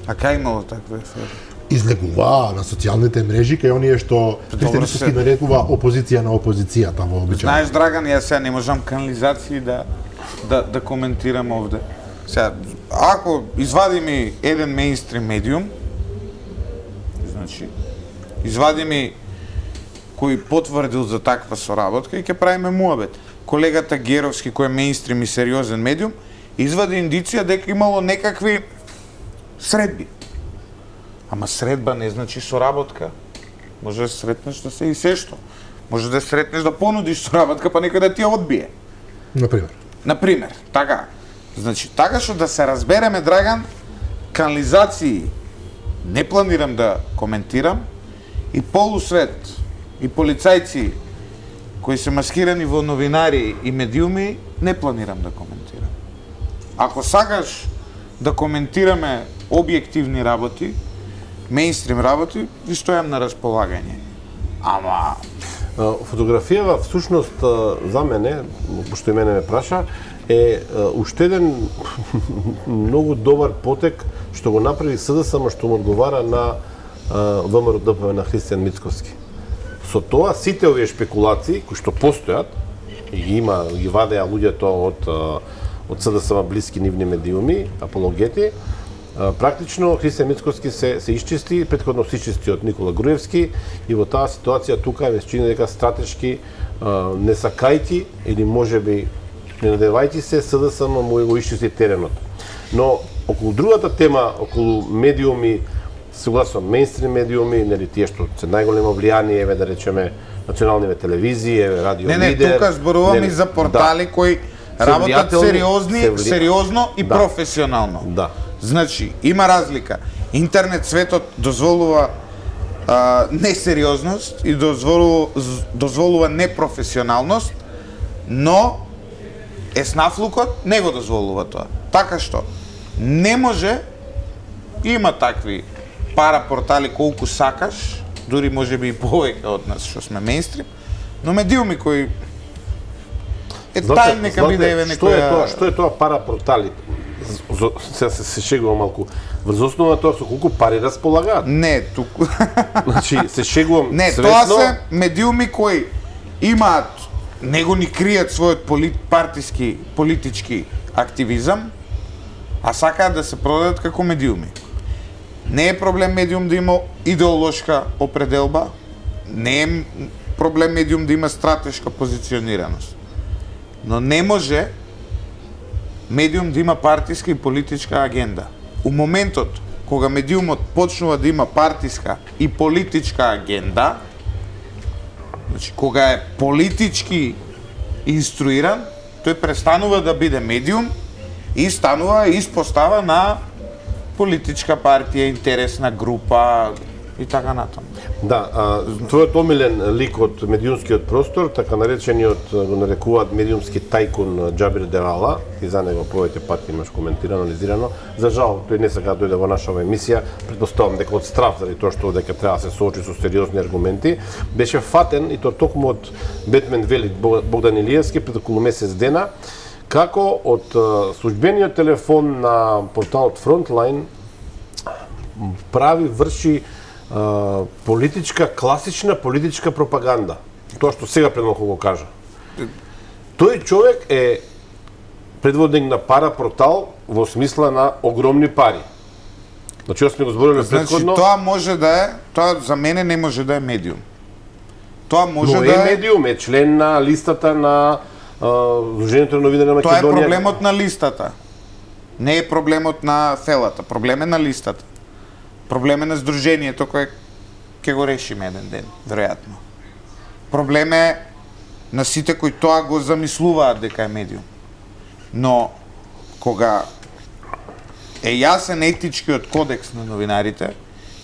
S2: А кај имало такви афери?
S1: Излегува на социјалните мрежи кај оние што Христијан Мицкоски нарекува опозиција на опозицијата во обичај.
S2: Знаеш, Драган, јас сега не можам канализации да коментирам овде. Сега, ако извади ми еден мејнстрим медиум, значи, извади ми кој потврдил за таква соработка и ќе правиме муабет. Колегата Геровски, кој е мејнстрим и сериозен медиум, извади индиција дека имало некакви средби. Ама средба не значи соработка. Може да сретнеш да се и се што. Може да сретнеш да понудиш соработка, па некој да ти ја одбие. Например, така. Значи, така што да се разбереме, Драган, канализации не планирам да коментирам и полусвет и полицајци кои се маскирани во новинари и медиуми не планирам да коментирам. Ако сакаш да коментираме објективни работи, мејнстрим работи, ви стојам на располагање. Ама
S3: фотографијава всушност за мене, пошто и мене ме праша, е уште еден многу добар потек што го направи СДСМ, што му одговара на ВМРО ДПМН на Христијан Мицковски. Со тоа сите овие шпекулации кои што постојат и ги вадеа луѓето од СДСМ блиски нивни медиуми, апологети, практично Христијан Мицковски се исчисти, претходно се исчисти од Никола Груевски и во таа ситуација тука ме чини дека стратешки не сакајки или можеби не надевајќи се, СДСМ му го исчисти теренот. Но околу другата тема, околу медиуми, согласно мејнстрим медиуми, нели тие што се најголемо влијание, еве да речеме националниве телевизии, еве радио Лидер.
S2: Не, тука зборувам и за портали кои работат сериозно и професионално.
S3: Да.
S2: Значи, има разлика. Интернет светот дозволува несериозност и дозволува непрофесионалност, но еснафлукот не го дозволува тоа. Така што не може, има такви парапортали колку сакаш, дури може би и повеќе од нас што сме мејнстрим, но медиуми кои тај нека биде еве некоја...
S3: Што е тоа парапортали? Се шегувам малку. Врз основа тоа со колку пари располагаат?
S2: Не, туку...
S3: Значи, се шегувам свесно...
S2: Не, тоа се медиуми кои имаат, него ни кријат својот партиски, политички активизам, а сакаат да се продадат како медиуми. Не е проблем медиум да има идеолошка определба, не е проблем медиум да има стратешка позиционираност. Но не може медиум да има партиска и политичка агенда. У моментот кога медиумот почнува да има партиска и политичка агенда, значи кога е политички инструиран, тој престанува да биде медиум и станува испостава на политичка партија, интересна група и така натаму.
S3: Да, твојот омилен лик од медиумскиот простор, така наречениот, го нарекуваат медиумски тајкун Џабир Дерала, и за него повеќе пати имаш коментирано, анализирано. За жал, тој не сака да дојде во нашава емисија, предпоставам дека од страф заради тоа што дека треба да се соочи со сериозни аргументи, беше фатен и тоа токму од Бетмен вели Богдан Илиевски пред околу месец дена, како од службениот телефон на порталот Frontline врши класична политичка пропаганда. Тоа што сега пред малку го кажа. Тој човек е предводник на парапортал во смисла на огромни пари. Значи, сме го збориле претходно.
S2: Значи, тоа може да е, тоа за мене не може да е медиум. Тоа може да
S3: е медиум, е член на листата на Сдруженијето на новинари на Македонија.
S2: Тоа е проблемот на листата. Не е проблемот на селата, проблем е на листата. Проблем е на Сдруженијето кое ќе го решиме еден ден, веројатно. Проблем е на сите кои тоа го замислуваат дека е медиум. Но кога е јасен етичкиот кодекс на новинарите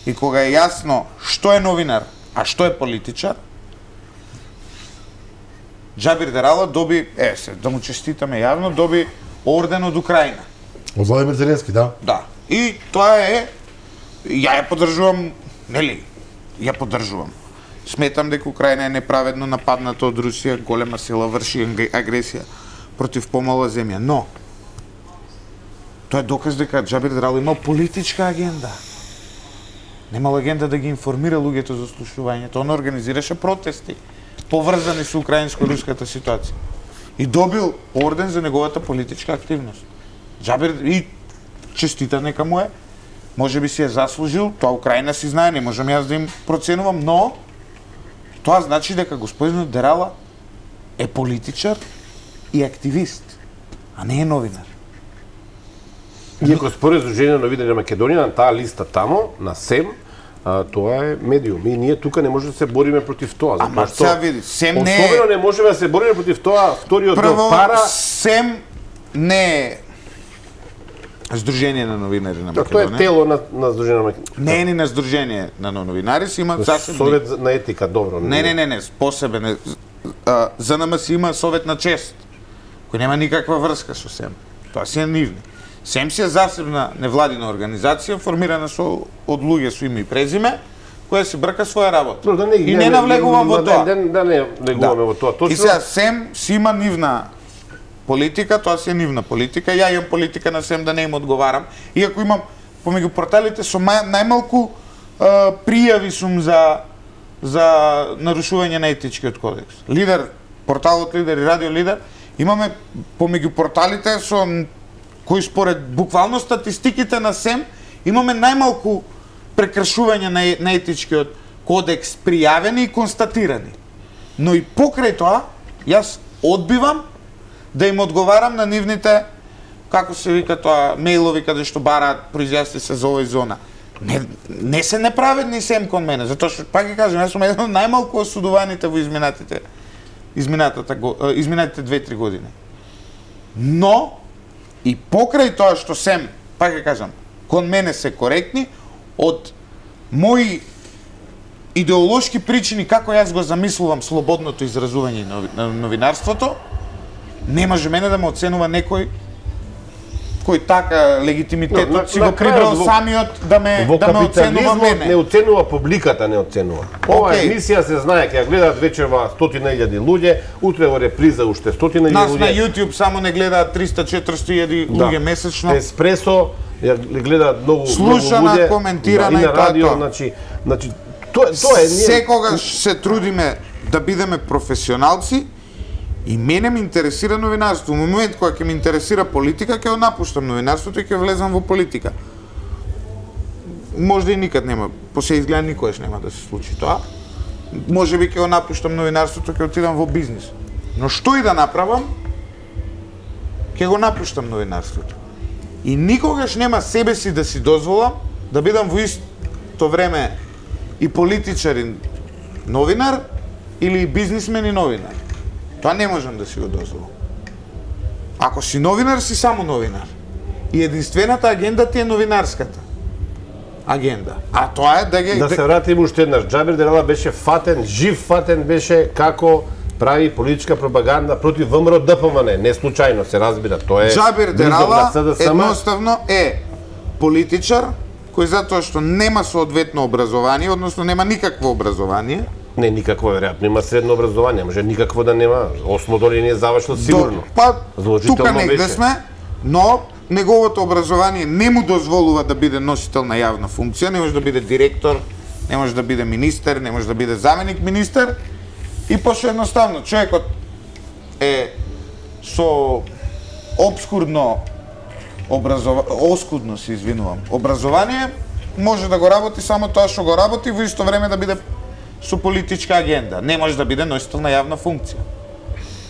S2: и кога е јасно што е новинар, а што е политичар, Џабир Дерала доби, да му честитаме јавно, доби орден од Украина.
S1: Од Владимир Зеленски, да.
S2: Да. И тоа е, ја поддржувам, нели, ја поддржувам. Сметам дека Украина е неправедно нападната од Русија, голема сила врши агресија против помала земја. Но, тоа е доказ дека Џабир Дерала имал политичка агенда. Немал агенда да ги информира луѓето за слушувањето. Он организираше протести поврзани со украинско-руската ситуација. И добил орден за неговата политичка активност. Џабир и честита нека му е. Може би си е заслужил, тоа Украина си знае, не можам јас да им проценувам, но тоа значи дека господинот Дерала е политичар и активист, а не е новинар.
S3: Иако според Сдруженијето на новинари на Македонија, на таа листа тамо, на СЕМ, тоа е медиум. И ние тука не можеме да се бориме против тоа.
S2: Ама сега види, СЕМ не е...
S3: Особено не можеме да се бориме против тоа, вториот
S2: Прво,
S3: пара...
S2: СЕМ не е Сдружение на новинари на Македонија.
S3: Тоа е тело на Сдружение на Македонија.
S2: Не е ни на Сдружение на новинари, си има засебни...
S3: Совет на етика, добро.
S2: Не, посебен. ЗНМ си има Совет на чест, кој нема никаква врска со СЕМ. Тоа си е нивни. СЕМ си е засебна невладина организација, формирана од луѓе со име и презиме, која си брка своја работа. И не навлегувам во тоа.
S3: Да не навлегуваме во тоа. Точно.
S2: И сега СЕМ си има нивна политика, тоа си е нивна политика. Ја имам политика на СЕМ да не им одговарам. Иако имам помеѓу порталите со најмалку пријави сум за нарушување на етичкиот кодекс. Лидер, порталот Лидер и Радио Лидер, имаме помеѓу порталите со кои според буквално статистиките на СЕМ имаме најмалку прекршување на етичкиот кодекс пријавени и констатирани. Но и покрај тоа, јас одбивам да им одговарам на нивните, како се вика тоа, мејлови каде што бараат произјасни се за овој зона. Не се неправедни СЕМ кон мене, затоа што пак ги кажам, јас сум еден од најмалку осудуваните во изминатите 2-3 години. Но и покрај тоа што СЕМ, пак ги кажам, кон мене се коректни, од мои идеолошки причини како јас го замислувам слободното изразување на новинарството, не може мене да ме оценува некој кој така легитимитетот си го прибрал самиот да ме оценува мене.
S3: Не оценува публиката, не оценува. Ова емисија се знае, ќе гледаат вечерва 100.000 луѓе, утре во реприза уште 100.000 луѓе.
S2: Нас на YouTube само не гледаат 300-400.000 луѓе месечно.
S3: Еспресо ја гледаат многу луѓе.
S2: Слушана, коментирана и
S3: радио, значи тоа е
S2: секогаш се трудиме да бидеме професионалци. И мене ме интересира новинарство. Во момент кога ќе ме интересира политика, ќе напуштам новинарството и ќе влезам во политика. Можда и никад нема, по се изгледа никогаш нема да се случи тоа. Можеби ќе напуштам новинарството, ќе отидам во бизнис. Но што и да направам, ќе го напуштам новинарството. И никогаш нема себе си да си дозволам да бидам во исто време и политичар и новинар или бизнисмен и новинар. Тоа не можам да си го дозволам. Ако си новинар, си само новинар. И единствената агенда ти е новинарската агенда. А тоа е да ги...
S3: Да се вратим уште еднаш. Џабир Дерала беше фатен, жив фатен беше како прави политичка пропаганда против ВМРО ДПМН. Не случајно се разбира. Тоа е...
S2: Џабир Дерала едноставно е политичар кој затоа што нема соодветно образование, односно нема никакво образование.
S3: Не, никакво, веројатно има средно образование, може никакво да нема. Осмо дори не е завршил сигурно.
S2: Па, тука негде сме, но неговото образование не му дозволува да биде носител на јавна функција, не може да биде директор, не може да биде министер, не може да биде заменик министер. И пошто едноставно, човекот е со оскудно се извинувам, образование, може да го работи само тоа што го работи, во исто време да биде со политичка агенда. Не може да биде носител на јавна функција.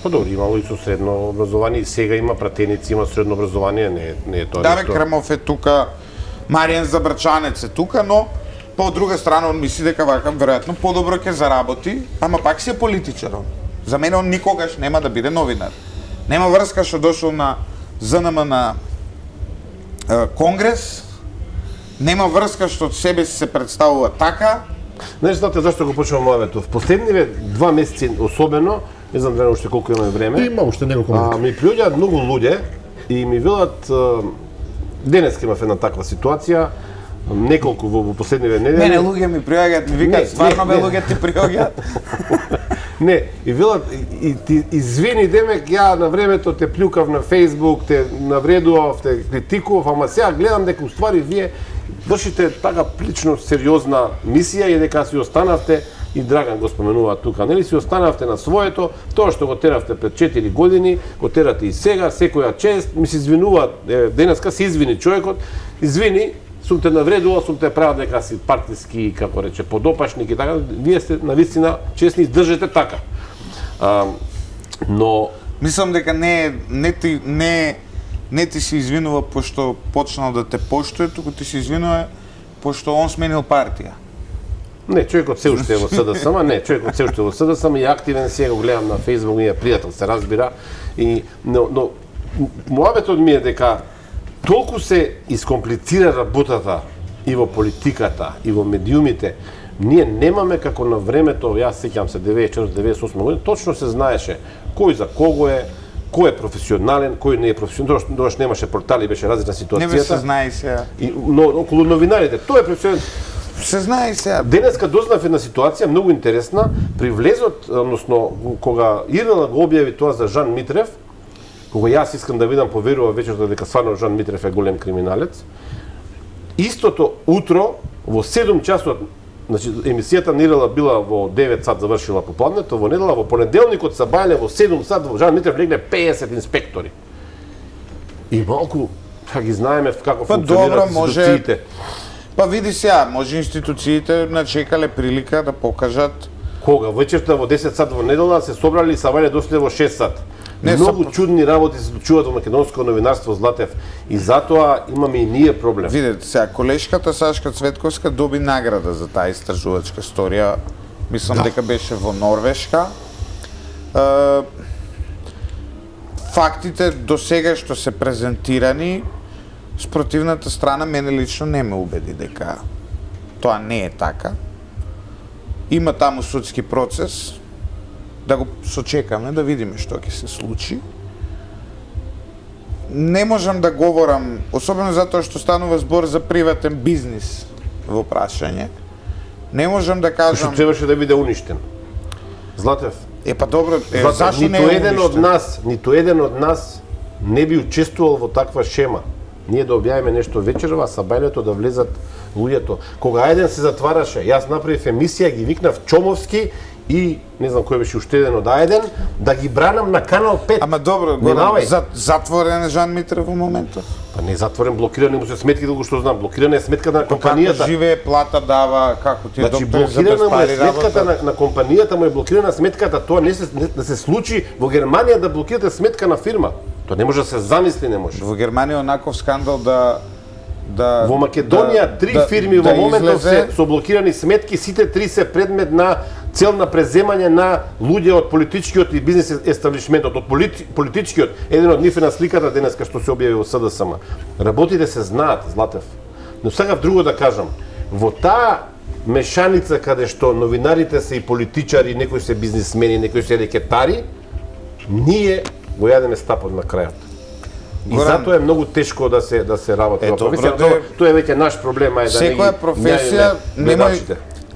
S3: Па добро, имало и со средно образование, и сега има пратеници, има средно образование, не е тоа.
S2: Даве Крмов е тука, Маријан Забрачанец е тука, но по друга страна он мисли дека вака веројатно подобро ќе заработи, ама пак си е политичар он. За мене он никогаш нема да биде новинар. Нема врска што дошол на ЗНМ на Конгрес, нема врска што себе си се представува така.
S3: Не знаете зашто го почнувам мојавето. В последниве 2 месеци особено, не знам дали уште колку имаме време.
S1: Има уште неколку минути.
S3: Ми приоѓаат многу луѓе и ми велат денеска имав една таква ситуација, неколку во последниве недели.
S2: Мене луѓе ми приоѓаат, ми викаат стварно бе луѓе ти приоѓаат.
S3: Не, и велат и ти извини Демек, ја на времето те плюкав на Facebook, те навредував, те критикував, ама сега гледам дека уствари вие вршите така лично сериозна мисија и дека си останавте, и Драган го споменува тука, нели си останавте на своето, тоа што го теравте пред 4 години, го терате и сега, секоја чест, ми се извинува, денеска се извини човекот, извини, сум те навредувал, сум те правил дека си партиски, како рече, подопашник и така, вие сте навистина честни, издржете така. Но
S2: мислам дека не ти се извинува пошто почнал да те поштуе, туку ти се извинува пошто он сменил партија.
S3: Не, човекот се уште е во СДСМ, не, човекот се уште е во СДСМ и активен си, го гледам на Facebook, ние пријател се разбира, и но муабетот ми е дека толку се искомплицира работата и во политиката, и во медиумите, ние немаме како на времето, јас сеќам се 94-98 година, точно се знаеше кој за кого е, кој е професионален, кој не е професионален, тогаш немаше портали, беше различна ситуацијата.
S2: Не се знае и сега.
S3: Но околу новинарите, тој е професионален.
S2: Се знае и сега.
S3: Денеска дознав една ситуација многу интересна, при влезот, односно кога ИРН го објави тоа за Жан Митрев, кога јас искам да видам поверува вечерта дека стварно Жан Митрев е голем криминалец, истото утро во 7 часот, значи емисијата на ИРН била во 9 сат завршила попладнето, во недела, во понеделникот се бајале во 7 сат во Жан Митрев легне 50 инспектори. И малку ги знаеме како функционираат институциите.
S2: Па види сега, може институциите начекале прилика да покажат.
S3: Кога? Вечерта во 10 сат во недела се собрали и сабајале дошле во 6 сат. Многу чудни работи се случуваат во македонско новинарство, Златев, и затоа имаме и ние проблем.
S2: Видете, сега колешката Сашка Цветковска доби награда за таа истражувачка сторија. Мислам дека беше во Норвешка. Фактите до сега што се презентирани, спротивната страна мене лично не ме убеди дека тоа не е така. Има таму судски процес, да го сочекаме, да видиме што ќе се случи. Не можам да говорам, особено затоа што станува збор за приватен бизнис во прашање. Не можам да кажам...
S3: Што требаше да биде уништен. Златев.
S2: Па добро,
S3: зашто не е уништен? Ниту еден од нас не би учествувал во таква шема. Ние да објавиме нешто вечерва, сабајлето да влезат луѓето. Кога еден се затвараше, јас направив емисија, ги викнав Чомовски и не знам кој беше уште еден од Ајден, да ги бранам на Канал 5.
S2: Ама добро, затворен е Жан Митрев во моментот?
S3: Па не затворен, блокиран му се сметки, долго што знам, блокирана е сметка на компанијата.
S2: Како живее, плата дава, како ти е
S3: значи,
S2: доктор за безпари
S3: сметката на компанијата, му е блокирана сметката, тоа не се случи во Германија да блокирате сметка на фирма. Тоа не може да се замисли, не може.
S2: Во Германија онаков скандал да
S3: во Македонија три фирми во моментов се со блокирани сметки, сите три се предмет на цел на преземање на луѓе од политичкиот и бизнес естаблишментот, од политичкиот. Еден од нив е на сликата денеска што се објави во СДСМ. Работите се знаат, Златев. Но сакав друго да кажам. Во таа мешаница каде што новинарите се и политичари, некои се бизнисмени, некои се рекетари, ние го јадеме стапот на крајот. И затоа е многу тешко да се работи во професија. Тоа е веќе наш проблем, е да
S2: секоја професија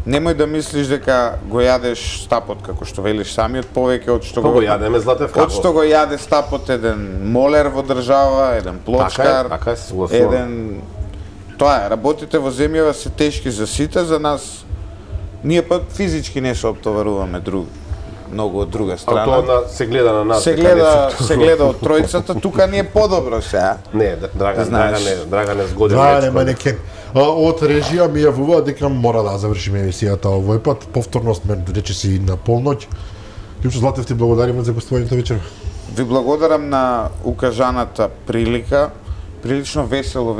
S2: немој да мислиш дека го јадеш стапот како што велиш самиот, повеќе од што
S3: го јадеме, Златев, како?
S2: Од што го јаде стапот еден молер во држава, еден плочкар,
S3: така се согласувам.
S2: еден тоа е, работите во земјава се тешки за сите, за нас ние пат физички не се оптоваруваме многу од друга страна.
S3: А тоа се гледа на нас.
S2: Се гледа од тројцата, тука ни е подобро сега.
S3: Не, Драгане згоден.
S1: Да, манекен. Од режија ми јавува дека мора да завршиме емисијата овој пат. Повторно сме речиси на полноќ. Лично Златев, ти благодариме за гостувањето вечер.
S2: Ви благодарам на укажаната прилика. Прилично весело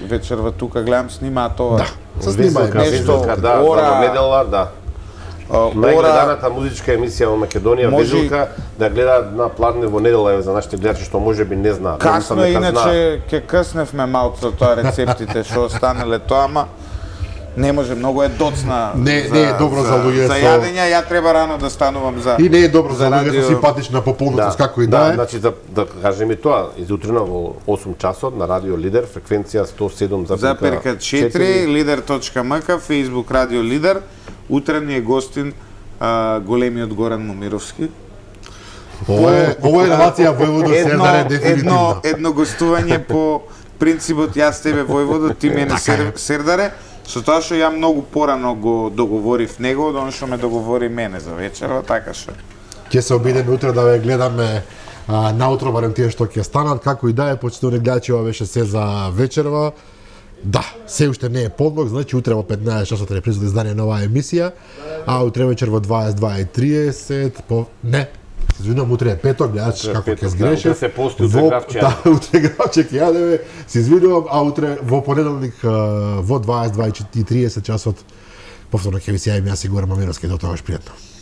S2: вечерва тука, гледам снимаат ова.
S1: Да, се снимаат
S3: нешто, ора, недела, да. Најгледаната музичка емисија во Македонија, Вежилка, да гледаат на Пладне во недела за нашите гледачи што можеби не знаат.
S2: Касно е, иначе ќе късневме малку тоа рецептите што останеле тоа, ама не може, многу е доцна.
S1: Не е добро за луѓе
S2: за јадење, ја треба рано да станувам за.
S1: И не е добро за луѓе со симпатична пополнотост како и да е.
S3: Значи да кажем и тоа, изутрина во 8 часот на Радио Лидер, фреквенција 107,4,
S2: lider.mk, Facebook Радио Лидер. Утре ни е гостин големиот Горан Момировски.
S1: Ова е релација Војводо-Сердаре дефинитивно.
S2: Едно гостување по принципот јас тебе Војводо, ти мене Сердаре, со тоа што ја многу порано го договорив него, од оно што ме договори мене за вечерва, така што.
S1: Ќе се обидеме утре да ве гледаме наутро, барем тие што ќе станат, како и да е, почитувани гледачи, ова беше се за вечерва. Да, се уште не е подног, значи утре во 15 часот реприза издание на оваа емисија, а утре вечер во 22:30 не, извинувам, утре е петок, гледачи како ќе сгреше.
S3: Утре се пости, утре гравче.
S1: Да, утре гравче ќе јадеме, се извинувам, а утре во понеделник во 22:30 часот повторно ќе ви се јавим јас и Гоran Мамировски, до тогаш пријатно.